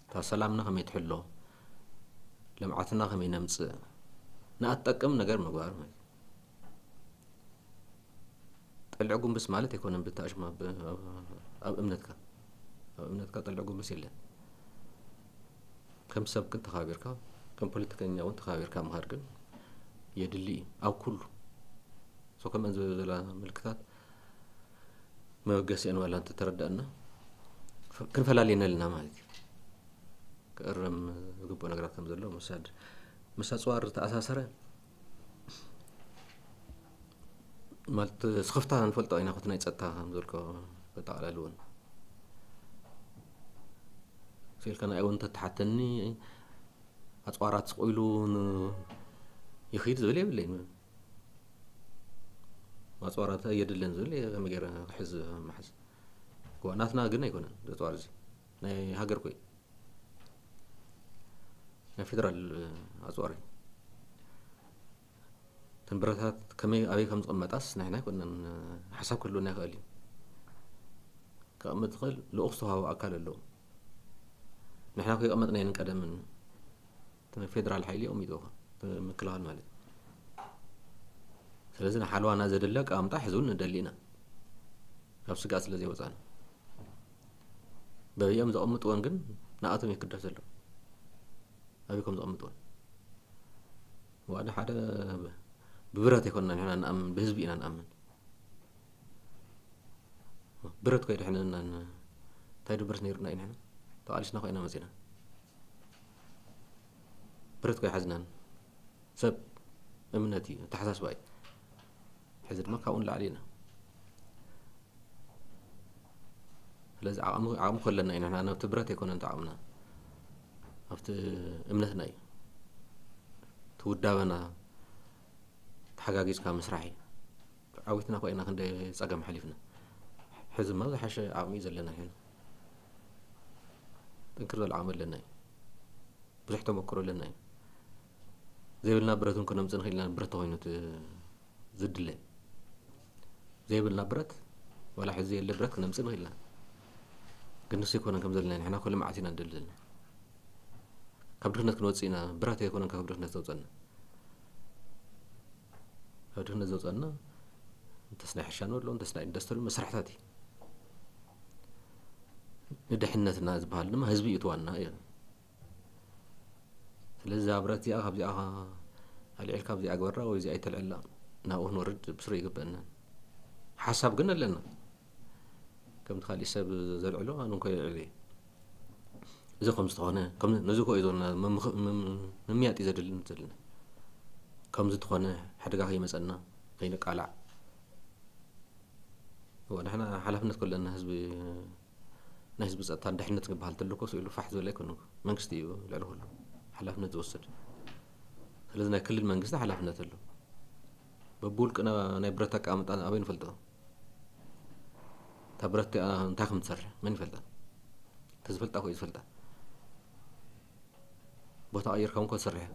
እታ ሰላምና ከመይ ትሕሎ፣ ልምዓትና ከመይ ነምፅእ፣ ንኣትጠቅም ነገር ምግባር ማለት እዩ። ጠልዕ ጉንብስ ማለት ኣይኮነን። ብታሽማ ኣብ እምነትካ ኣብ እምነትካ ጠልዕ ጉንብስ የለን። ከም ሰብ ግን ተኻቢርካ ከም ፖለቲከኛ እውን ተኻቢርካ ምኻድ ግን የድሊ እዩ ኣብ ኩሉ። ሶ ከምአን ዝበላ ምልክታት መበገሲአን ዋላ እንተተረዳእና ክንፈላልየን ኣለና ማለት እዩ። ክእረም ዝግብኦ ነገራት ከም ዘሎ ምሳድ ምስ ኣፅዋር ዝተኣሳሰረ ማለት ስኽፍታ ንፈልጦ ኢና። ኮቲ ናይ ፀጥታ ከም ዘልኮ ከጠቓላልውን ስኢልካ ንኣይ እውን እንተተሓተኒ ኣፅዋራት ስቕ ኢሉ ይኽይድ ዝብል የብለይን። ኣፅዋራት የድልን ዝብል ከመይ ገይረ ክሕዝ መሓዝ ናትና ግን ኣይኮነን። ዘፅዋር እዚ ናይ ሃገር ኮይ ናይ ፌደራል ኣፅዋር እዩ። ተንብረታት ከመይ ኣበይ ከም ዝቕመጣስ ንሕና ኣይኮነን ሓሳብ ክህልወና ይኽእል እዩ። ክቐምጥ ዝኽእል ልኡኽ ዝተዋሃቦ ኣካል ኣለዎ። ንሕና ከይቐመጥና የንቀደምን ፌደራል ሓይሊ የቐሚጥዎ ምክልኻል ማለት እዩ። ስለዚ ንሓልዋና ዘደሊ ኣቀማምጣ ሕዚ እውን ንደሊ ኢና። ካብ ስጋት ስለ ዘይወፃና በብኦም ዘቐምጥዎን ግን ንኣቶም ይክደስ ዘሎ ኣበይ ከም ዘቐምጥዎን ዋዳ ሓደ ብብረት ኣይኮንና ንሕና ንኣምን ብህዝቢ ኢና ንኣምን። ብረት ኮይ ድሕንና እንታይ ድብርስ ነይሩና እዩ ንሕና ተቓሊስና ኮይና መፂና ብረት ኮይ ሓዝናን ሰብ እምነት እዩ ኣተሓሳስባ እዩ። ሕዚ ድማ ካብኡ ንላዕሊ ኢና። ስለዚ ዓቕሚ ዓቕሚ ከለና ኢና ንሕና ነብቲ ብረት ኣይኮነን ተዓቕምና ኣብቲ እምነትና እዩ። እቲ ውዳበና ተሓጋጊዝካ ምስራሕ እዩ። ዓዊትና እኮ ኢና ክንደይ ጸገም ሓሊፍና። ሕዚ ድማ ዝሓሸ ዓቕሚ እዩ ዘለና። ሕዚ ጥንክር ዝበለ ዓቕሚ ኣለና እዩ። ብዙሕ ተመክሮ ኣለና እዩ። ዘይብልና ብረት እውን ክነምጽእ ንኽእል ኢና፣ ብረት ተኾይኑ እቲ ዝድለ። ዘይብልና ብረት፣ ዋላ ሕዚ የለ ብረት ክነምጽእ ንኽእል ኢና። ግን ንሱ ኣይኮነን ከም ዘለና፣ ንሕና እኮ ልምዓት ኢና ንደሊ ዘለና። ካብ ድኽነት ክንወጽእ ኢና፣ ብረት ኣይኮነን ካብ ድኽነት ዘውጸና። ካብ ድኽነት ዘውጸና እንተስ ናይ ሕርሻ ንበሎ፣ እንተስ ናይ ኢንዱስትሪ መሳርሕታት እዩ። ንድሕነትና ዝበሃል ድማ ህዝቢ እዩ እቲ ዋና እዩ። ስለዚ እዛ ብረት እዚኣ ካብዚኣ ኣልዒልካ ኣብዚኣ ግበራ ወይ እዚኣ ኣይተልዕላ፣ ናብኡ ክንወርድ ብስሩ ይግበአና። ሓሳብ ግን ኣለና። ከምቲ ካሊእ ሰብ ዘልዕሎ ኣነ እንኮ የልዕል እየ። እዚ ከም ዝተኾነ፣ ከም ነዚ እኮ እዩ ዘለና፣ ምምኽ-፣ ምም-፣ ምምያጥ እዩ ዘድልን ዘለና። ከም ዝተኾነ ሓደጋ ከይመጸና፣ ከይንቃላዕ። እወ፣ ንሕና ሓላፍነት ከለና ህዝቢ፣ ናይ ህዝቢ ጸጥታን ድሕነት ዝበሃል ተሎ እኮ ስኢሉ ፋሕ ዝበለ ኣይኮነን እኮ። መንግስቲ እዩ ልዕሊ ኩሉ ሓላፍነት ዝወስድ። ስለዚ ናይ ክልል መንግስቲ ሓላፍነት ኣሎ። በብውልቅና ናይ ብረት ኣቀማምጣ ኣበይ ንፈልጦ? እታ ብረት እቲኣ እንታይ ከም ትሰርሕ መን ይፈልጣ? እቲ ዝፈልጣ እኮ እዩ ዝፈልጣ። ቦታ ቀይርካ እውን እኮ ትሰርሕ እያ።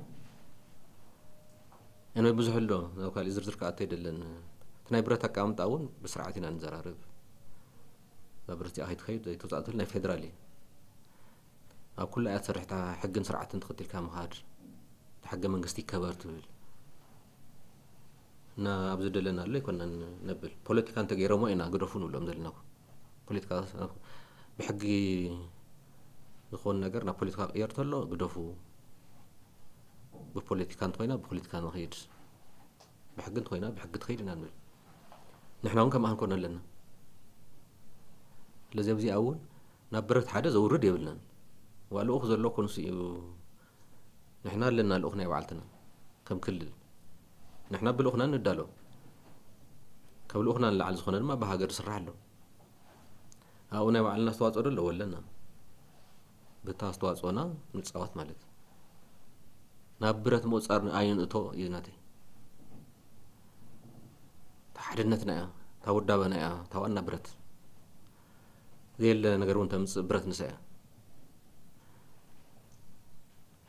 ኣነ ብዙሕ ኣሎ፣ ናብ ካሊእ ዝርዝር ክኣቱ ኣይደለን። እቲ ናይ ብረት ኣቀማምጣ እውን ብስርዓት ኢና ንዘራርብ። እዛ ብረት እዚኣ ከይትኸይድ ዘይተውጻእ ትብል ናይ ፌደራል እዩ። ኣብ ኩላ እያ ትሰርሕ፣ እታ ሕግን ስርዓትን ተኸቲልካ ምኻድ፣ እታ ሕገ መንግስቲ ይከበር ትብል። እና ኣብዚ ደለናሉ ኣይኮናን ነብል። ፖለቲካ እንተገይሮሞ ኢና ግደፉ ንብሎም ዘለና እኮ። ፖለቲካ ብሕጊ ዝኾን ነገር ናብ ፖለቲካ ቅየር ተሎ ግደፉ። ብፖለቲካ እንተኾይና ብፖለቲካ ንኸይድ፣ ብሕጊ እንተኾይና ብሕጊ ትኸይድ ኢና ንብል። ንሕና እውን ከምኣ ክንኮን ኣለና። ስለዚ ኣብዚኣ እውን ናብ ብረት ሓደ ዘውርድ የብልናን። ዋ ልኡኽ ዘሎ ኮንሱ እዩ። ንሕና ኣለና ልኡኽ ናይ ባዕልትና ከም ክልል። ንሕና ብልኡኽና ንዳሎ። ካብ ልኡኽና ንላዕሊ ዝኾነ ድማ ብሃገር ዝስራሕ ኣሎ። ኣብኡ ናይ ባዕልና ኣስተዋጽኦ ዶ ኣለዎ? ኣለና። በታ ኣስተዋጽኦና ንጻወት ማለት እዩ። ናብ ብረት ምቁጻር ኣይንእቶ እዩ ናተይ። እታ ሓድነትና እያ፣ እታ ውዳበና እያ፣ እታ ዋና ብረት። ዘየለ ነገር እውን ተምጽእ ብረት ንሳ እያ።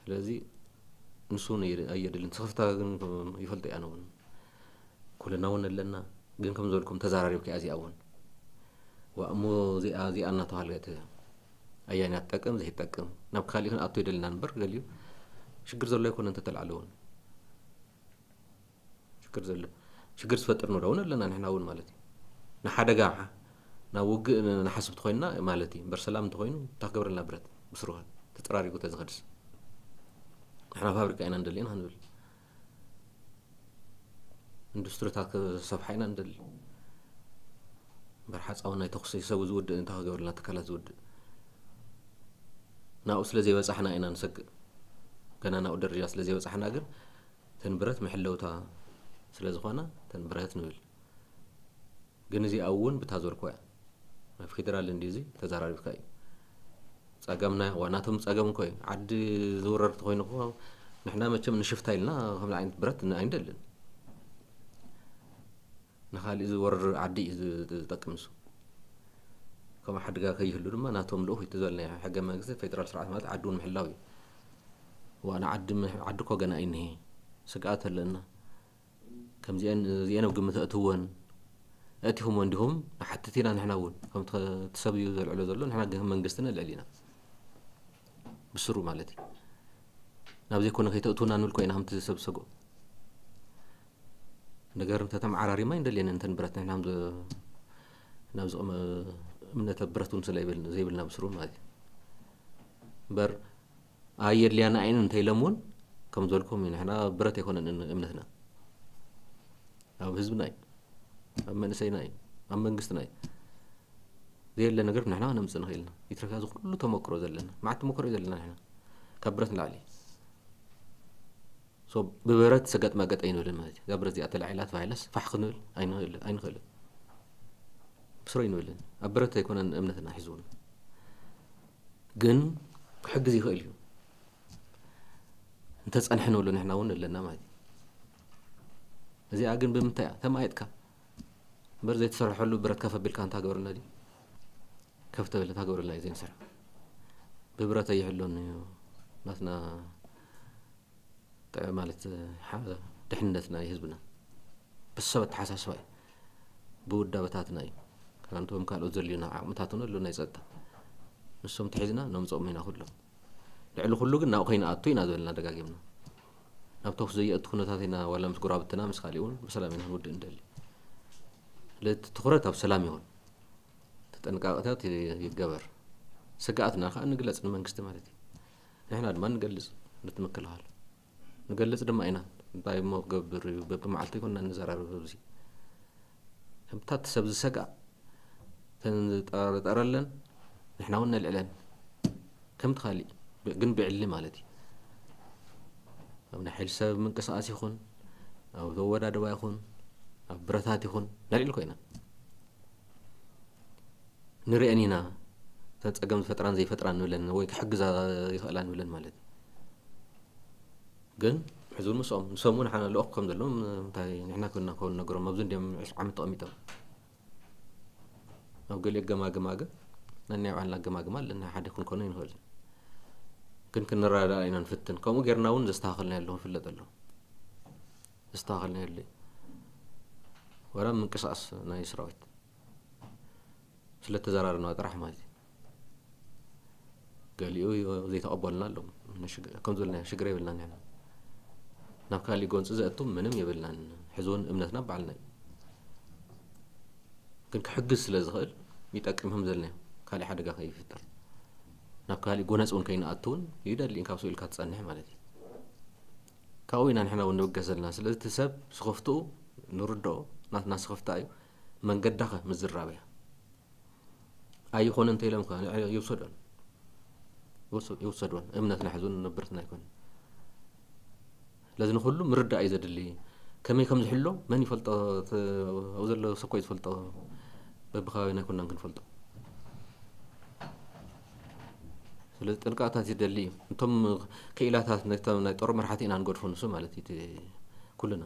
ስለዚ ንሱ እውን ኣየ-፣ ኣየድልን። ስኽፍታ ግን ይፈልጦ እየ ኣነ እውን። ኩልና እውን ኣለና፣ ግን ከም ዝበልኩም ተዘራሪብካ እያ እዚኣ እውን። ዋ እሞ እዚኣ፣ እዚኣ እናተባህለት ኣያና ትጠቅም፣ ዘይትጠቅም። ናብ ካሊእ ክንኣቱ ይደልና እምበር ገሊኡ ሽግር ዘሎ ኣይኮነ እንተተልዓለ እውን። ሽግር ዘሎ፣ ሽግር ዝፈጥር ንብሎ እውን ኣለና ንሕና እውን ማለት እዩ። ንሓደጋ፣ ናብ ውግእ ንሓስብ ተኾይንና ማለት እዩ። እምበር ሰላም እንተኾይኑ እንታይ ክገብረልና ብረት? ብስሩ ተጠራሪጉ ተዝኸድስ። ንሕና ፋብሪካ ኢና ንደሊ ኢና ክንብል። ኢንዱስትሪታት ክሰፍሓ ኢና ንደሊ። እምበር ሓጻውን ናይ ተኹሲ ሰቡ ዝውድእ እንታይ ክገብረልና ትካላት ዝውድእ? ናብኡ ስለ ዘይበጻሕና ኢና ንሰግእ። ገና ናብኡ ደረጃ ስለ ዘይበጻሕና ግን እተን ብረት መሐለውታ ስለ ዝኾና እተን ብረት ንብል። ግን እዚኣ እውን ብታ ዘልኮ እያ። ናብ ፌደራል እንዲ እዚ ተዘራሪብካ እዩ። ጸገምና፣ ዋ ናቶም ጸገም እኮ እዩ። ዓዲ ዝውረር ተኾይኑ እኮ ንሕና መቸም ንሽፍታ ኢልና ከምዚ ዓይነት ብረት ን-፣ ኣይንደልን። ንኻሊእ ዝወርር ዓዲ እዩ ዝ-፣ ዝጠቅም እሱ። ከምኡ ሓደጋ ከይህሉ ድማ ናቶም ልኡኽ እዩ እቲ ዝበልናዮ። ሕገ መንግስቲ ፌደራል ስርዓት ማለት ዓዲ እውን ምሕላው እዩ። ዋ ንዓዲ ምሕ-፣ ዓዲ እኮ ገና እዩ እኒሄ። ስግኣት ኣለና። ከምዚአን እዚአን ኣብ ግምት ኣእትወን፣ ኣእቲኹምወን ዲኹም ንሓትት ኢና ንሕና እውን። ከምቲ ኸ-፣ እቲ ሰብ እዩ ዘልዕሎ ዘሎ፣ ንሕና ግን መንግስቲ ነልዕል ኢና። ብስሩ ማለት እዩ። ናብ ዘይኮነ ከይተእትውና ንብል እኮ ኢና ከምቲ ሰብ ዝሰግኦ። ነገር እንተተመዓራሪማ ኣይንደልየን እንተን ብረት ንሕና ከም ዘ-፣ ናብ ዝቕመ እምነተ ብረት እውን ስለ ይብል-፣ ዘይብልና ብስሩ ማለት እዩ። እምበር ኣየድልያና እየን እንተኢሎም እውን ከም ዝበልኩም እዩ። ንሕና ብረት ኣይኮነን እምነትና። ኣብ ህዝብና እዩ፣ ኣብ መንእሰይና እዩ፣ ኣብ መንግስትና እዩ። ዘየለ ነገር ንሕና ክነምጽእ ንኽእል ኢና። ይትረፍ እዚ ኩሉ ተመክሮ ዘለና፣ መዓት ተመክሮ እዩ ዘለና ንሕና። ካብ ብረት ንላዕሊ። ሶ ብብረት ሰገጥ መገጥ ኣይንብልን ማለት እዩ። እዛ ብረት እዚኣ ተላዒላ ተባሂላስ ፋሕ ክንብል ኣይንኽእል-፣ ኣይንኽእልን። ብስሩ ኣይንብልን። ኣብ ብረት ኣይኮነን እምነትና ሒዝውን። ግን ክሕግዝ ይኽእል እዩ። እንተጸንሐ ንብሎ ንሕና እውን ኣለና ማለት እዩ። እዚኣ ግን ብምንታይ እያ ተማየጥካ እምበር ዘይተሰርሐሉ ብረት ከፍ ኣቢልካ እንታ ገበረልና ድዩ? ከፍ ተበለ እንታ ገበረልና እዩ ዘይንሰርሕ። ብብረት ኣይሕሎን እዩ ናትና ጥዕ ማለት ሓ- ድሕነት ናይ ህዝብና ብሰብ ኣተሓሳስባ እዩ። ብውዳበታትና እዩ። ከንቶም ካልኦት ዘልዩና ዓቕምታት እውን ኣሎ ናይ ጸጥታ። ንሶም ተሒዝና ነምጽኦም ኢና ኩሎም። ልዕሊ ኩሉ ግን ናብኡ ከይንኣቱ ኢና ዝበልና ደጋጊምና። ናብ ተኩስ ዘየእቱ ኩነታት ኢና ዋላ ምስ ጉራብትና ምስ ካሊእ እውን ብሰላም ኢና ክንውድእ እንደሊ። ስለዚ እቲ ትኹረት ኣብ ሰላም ይኹን። ተጠንቃቕታት ይገበር። ስግኣትና ከዓ ንግለጽ ንመንግስቲ ማለት እዩ። ንሕና ድማ ንገልጽ ነቲ ምክልኻል። ንገልጽ ድማ ኢና። እንታይ እሞ ክገብር እዩ? በብመዓልቱ ይኮንና ንዘራረብ ኣብዚ። ከምታት ሰብ ዝሰግኣ ተንጠርጠረለን ንሕና እውን ነልዕለን። ከም ትኻሊ ግን ብዕሊ ማለት እዩ። ኣብ ናይ ሓይሊ ሰብ ምንቅስቃስ ይኹን ኣብ ተወዳደባ ይኹን ኣብ ብረታት ይኹን ነልዕል ኮይና ንርእን ኢና። እተን ጸገም ዝፈጥራን ዘይፈጥራን ንብለን ወይ ክሕግዛ ይኽእላ ንብለን ማለት እዩ። ግን ሕዚ እውን ምስኦም ንሶም እውን ሓና ልኦክ ከም ዘለዎም እንታይ ንሕና ክብልና ከውን ነገሮም ኣብዚ እንዲም ዕስ ዓመት ተቐሚጦም ኣብ ገሊኦ ገማግማ ግን ነናይ ባዕልና ገማግማ ኣለና ሓደ ክንኮኖ ይንኽእል ግን ክንረዳዳ ኢና ንፍትን ከምኡ ጌርና እውን ዘስተኻኸልና ኣለኹ ይፍለጥ ኣለኹ ዘስተኻኸልና የለ ወላ ምንቅስቃስ ናይ ሰራዊት ስለተዘራረና ጥራሕ ማለት እዩ ገሊኡ ዘይተቐበልና ኣለዉ ከም ዝበልና ሽግር የብልና ንሕና ናብ ካሊእ ጎንፂ ዘእቱ ምንም የብልናን ሕዚ እውን እምነትና በዓልና እዩ ግን ክሕግዝ ስለ ዝኽእል ይጠቅም ከም ዘለና ካሊእ ሓደጋ ከይፍጠር ናብ ካሊእ ጎነፂ እውን ከይንኣቱ እውን ይደሊ ካብ ስኢልካ ትፀንሕ ማለት እዩ ካብኡ ኢና ንሕና እውን ንብገስ ዘለና ስለዚ እቲ ሰብ ስኽፍትኡ ንርድኦ ናትና ስኽፍታ እዩ መንገዳኸ ምዝራብ እያ ኣይኾነ እንተ ኢሎም ከ ይውሰዶን ይውሰዶን እምነትና ሕዙን ንብርትና ኣይኮነ ስለዚ ንኩሉ ምርዳእ እዩ ዘድሊ ከመይ ከም ዝሕሎ መን ይፈልጦ ኣብ ዘሎ ሰኮ ዝፈልጦ በብከባቢና ኣይኮናን ክንፈልጦ ስለዚ ጥንቃታት ይደሊ እዩ እቶም ክኢላታት ናይ ጦር መርሓቲ ኢና ንገድፎ ንሱ ማለት እዩ ኩልና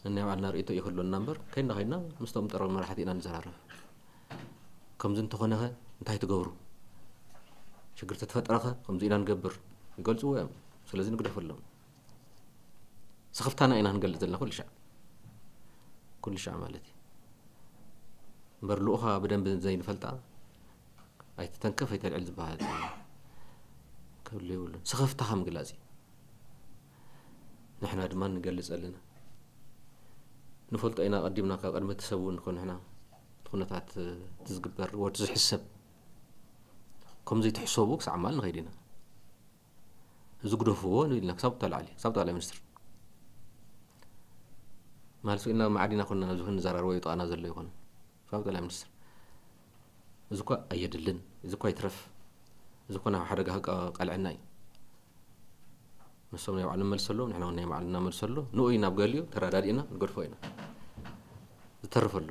ነናይ ባዕልና ርእቶ ይክህሎና እምበር ከይና ከይና ምስቶም ጦር መርሓቲ ኢና ንዘራረብ ከምዚ እንተኾነኸ እንታይ ትገብሩ ሽግር ተተፈጠረኸ ከምዚ ኢና ንገብር ይገልፅዎ እዮም ስለዚ ንግደፈሎም ስኽፍታና ኢና ንገልፅ ዘለና ኩሉ ሻዕ ኩሉ ሻዕ ማለት እዩ እምበር ልኡኻ ብደንብ ዘይንፈልጣ ኣይትተንከፍ ኣይተልዕል ዝበሃል ክህሉ የብሉን ስኽፍታኻ ምግላፅ እዩ ንሕና ድማ ንገልፅ ኣለና ንፈልጦ ኢና ቀዲምና ካብ ቅድሚ እቲ ሰብ እውን ኮንሕና እቲ ኩነታት እቲ ዝግበር ወቲ ዝሕሰብ ከምዚ ትሕሰቡ ክሳዕ ማል ንኸይድ ኢና እዚ ግደፍዎ ንብል ኢና ክሳብ ተላዕሊ ክሳብ ጠቅላይ ሚኒስትር ማለት ኢና ማዕዲና ኮንና ኣብዚ ክንዘራረቦ ይጠቃና ዘሎ ይኮነ ክሳብ ጠቅላይ ሚኒስትር እዚ እኳ ኣየድልን እዚ እኳ ይትረፍ እዚ እኳ ናብ ሓደጋ ቀልዕና እዩ ንሶም ናይ ባዕሎም መልሰሎም ንሕና ናይ ባዕልና መልሰሎ ንኡ ናብ ገሊኡ ተረዳዲእና ንገድፎ ኢና ዝተርፍ ኣሎ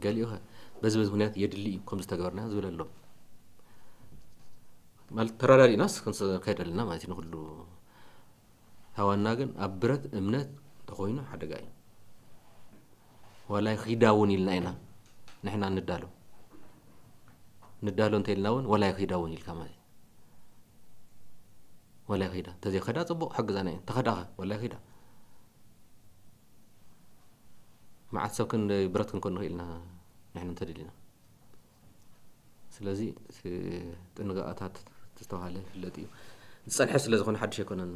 ገሊኡ በዚ በዚ ምክንያት የድሊ እዩ ከም ዝተገበርና ዝብል ኣሎ ማለት ተረዳዲእናስ ከይደልና ማለት ንኩሉ ሃዋና ግን ኣብ ብረት እምነት ተኮይኑ ሓደጋ እዩ ዋላይ ኺዳ እውን ኢልና ኢና ንሕና ንዳሎ ንዳሎ እንተ ኢልና እውን ዋላይ ኺዳ እውን ኢልካ ማለት ወላ ይኸይዳ እንተዘይኸዳ ፅቡቅ ሓግዛና እየን ተኸዳኸ ወላ ይኸይዳ መዓት ሰብ ክንደይ ብረት ክንኮን ንኽእል ኢና ንሕና እንተደሊና ስለዚ ጥንቃቐታት ዝተባሃለ ይፍለጥ እዩ ዝፀንሐ ስለ ዝኾነ ሓድሽ ኣይኮነን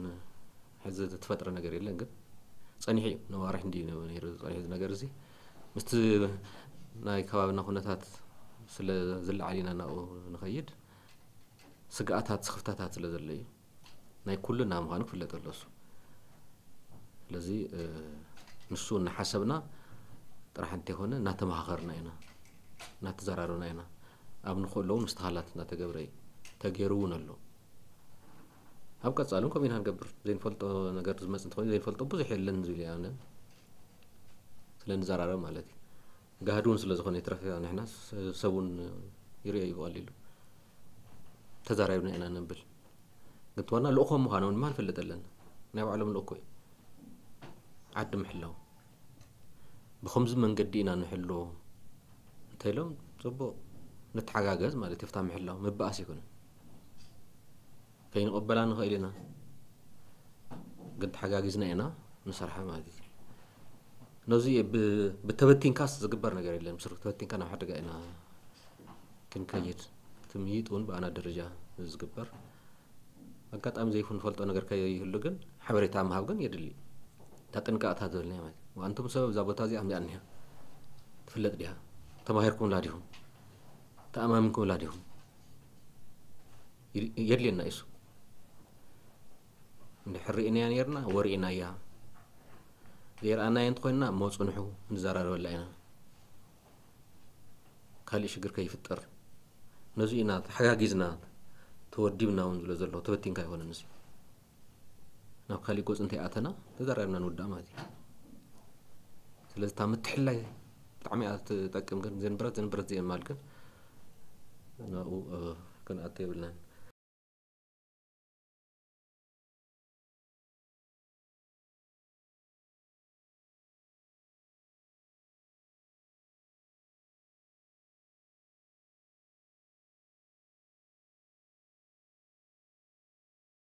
ሕዚ ዝተፈጥረ ነገር የለን ግን ፀኒሑ እዩ ነዋርሕ እንዲ ነሩ ፀኒሑ ነገር እዚ ምስቲ ናይ ከባብና ኩነታት ስለ ዝለዓል ኢና ናብኡ ንኸይድ ስግኣታት ስኽፍታታት ስለ ዘሎ እዩ ናይ ኩልና ምዃኑ ክፍለጥ ኣሎ እሱ ስለዚ ንሱ እናሓሰብና ጥራሕ እንተይኮነ እናተመኻኸርና ኢና እናተዘራረብና ኢና ኣብ ንኽእሎ እውን ምስትኻላት እናተገብረ እዩ ተገይሩ እውን ኣሎ ኣብ ቀፃሊ እውን ከምኡ ኢና ንገብር ዘይንፈልጦ ነገር ዝመፅ እንተኮይኑ ዘይንፈልጦ ብዙሕ የለን ዝብል እያ ስለ ንዘራረብ ማለት እዩ ጋህዲ እውን ስለ ዝኾነ ይትረፍ ንሕና ሰብ እውን ይርኦ እዩ ብቐሊሉ ተዛራሪብና ኢና ነብል ግትዋና ልእኾም ምዃኖም ድማ ንፈልጥ ኣለና። ናይ ባዕሎም ልእኮ እዩ። ዓዲ ምሕላው ብኸምዚ መንገዲ ኢና ንሕሎ እንተኢሎም ጽቡቕ ንተሓጋገዝ ማለት እዩ። ፍታ ምሕላው ምባኣስ ይኹን ከይንቕበላ ንኽእል ኢና፣ ግን ተሓጋጊዝና ኢና ንሰርሓ ማለት እዩ። ነዚ ብ- ብተበቲንካስ ዝግበር ነገር የለን። ብስሩ ተበቲንካ ናብ ሓደጋ ኢና ክንከይድ። ትምይጥ እውን ብኣና ደረጃ ዝግበር ኣጋጣሚ ዘይንፈልጦ ነገር ከይህሉ ግን ሓበሬታ ምሃብ ግን የድሊ። እታ ጥንቃቕታ ዝበልናያ ማለት እዩ። ኣንቱም ሰብ እዛ ቦታ እዚኣ ከምዚኣ እኒሃ ትፍለጥ ድያ? ተማሂርኩምላ ዲኹም? ተኣማሚንኩምላ ዲኹም? ይድ- የድልየና እዩ እሱ። እንድሕር ርኢናያ ነርና ወርኢናያ፣ ዘይረኣናያ እንተኾይንና እሞ ጽንሑ ንዘራረበላ ኢና። ካልእ ሽግር ከይፍጠር ነዚ ኢና ተሓጋጊዝና ተወዲብና እውን ዝብሎ ዘሎ። ተበቲንካ ኣይኮነን እዚ። ናብ ካሊእ ጎፅ እንተይኣተና ተዛራሪብና ንውዳእ ማለት እዩ። ስለዚ እታ ምትሕላይ ብጣዕሚ እያ ትጠቅም። ግን ዘንብረት ዘንብረት ዘየማል ግን ናብኡ ክንኣቱ የብልናን።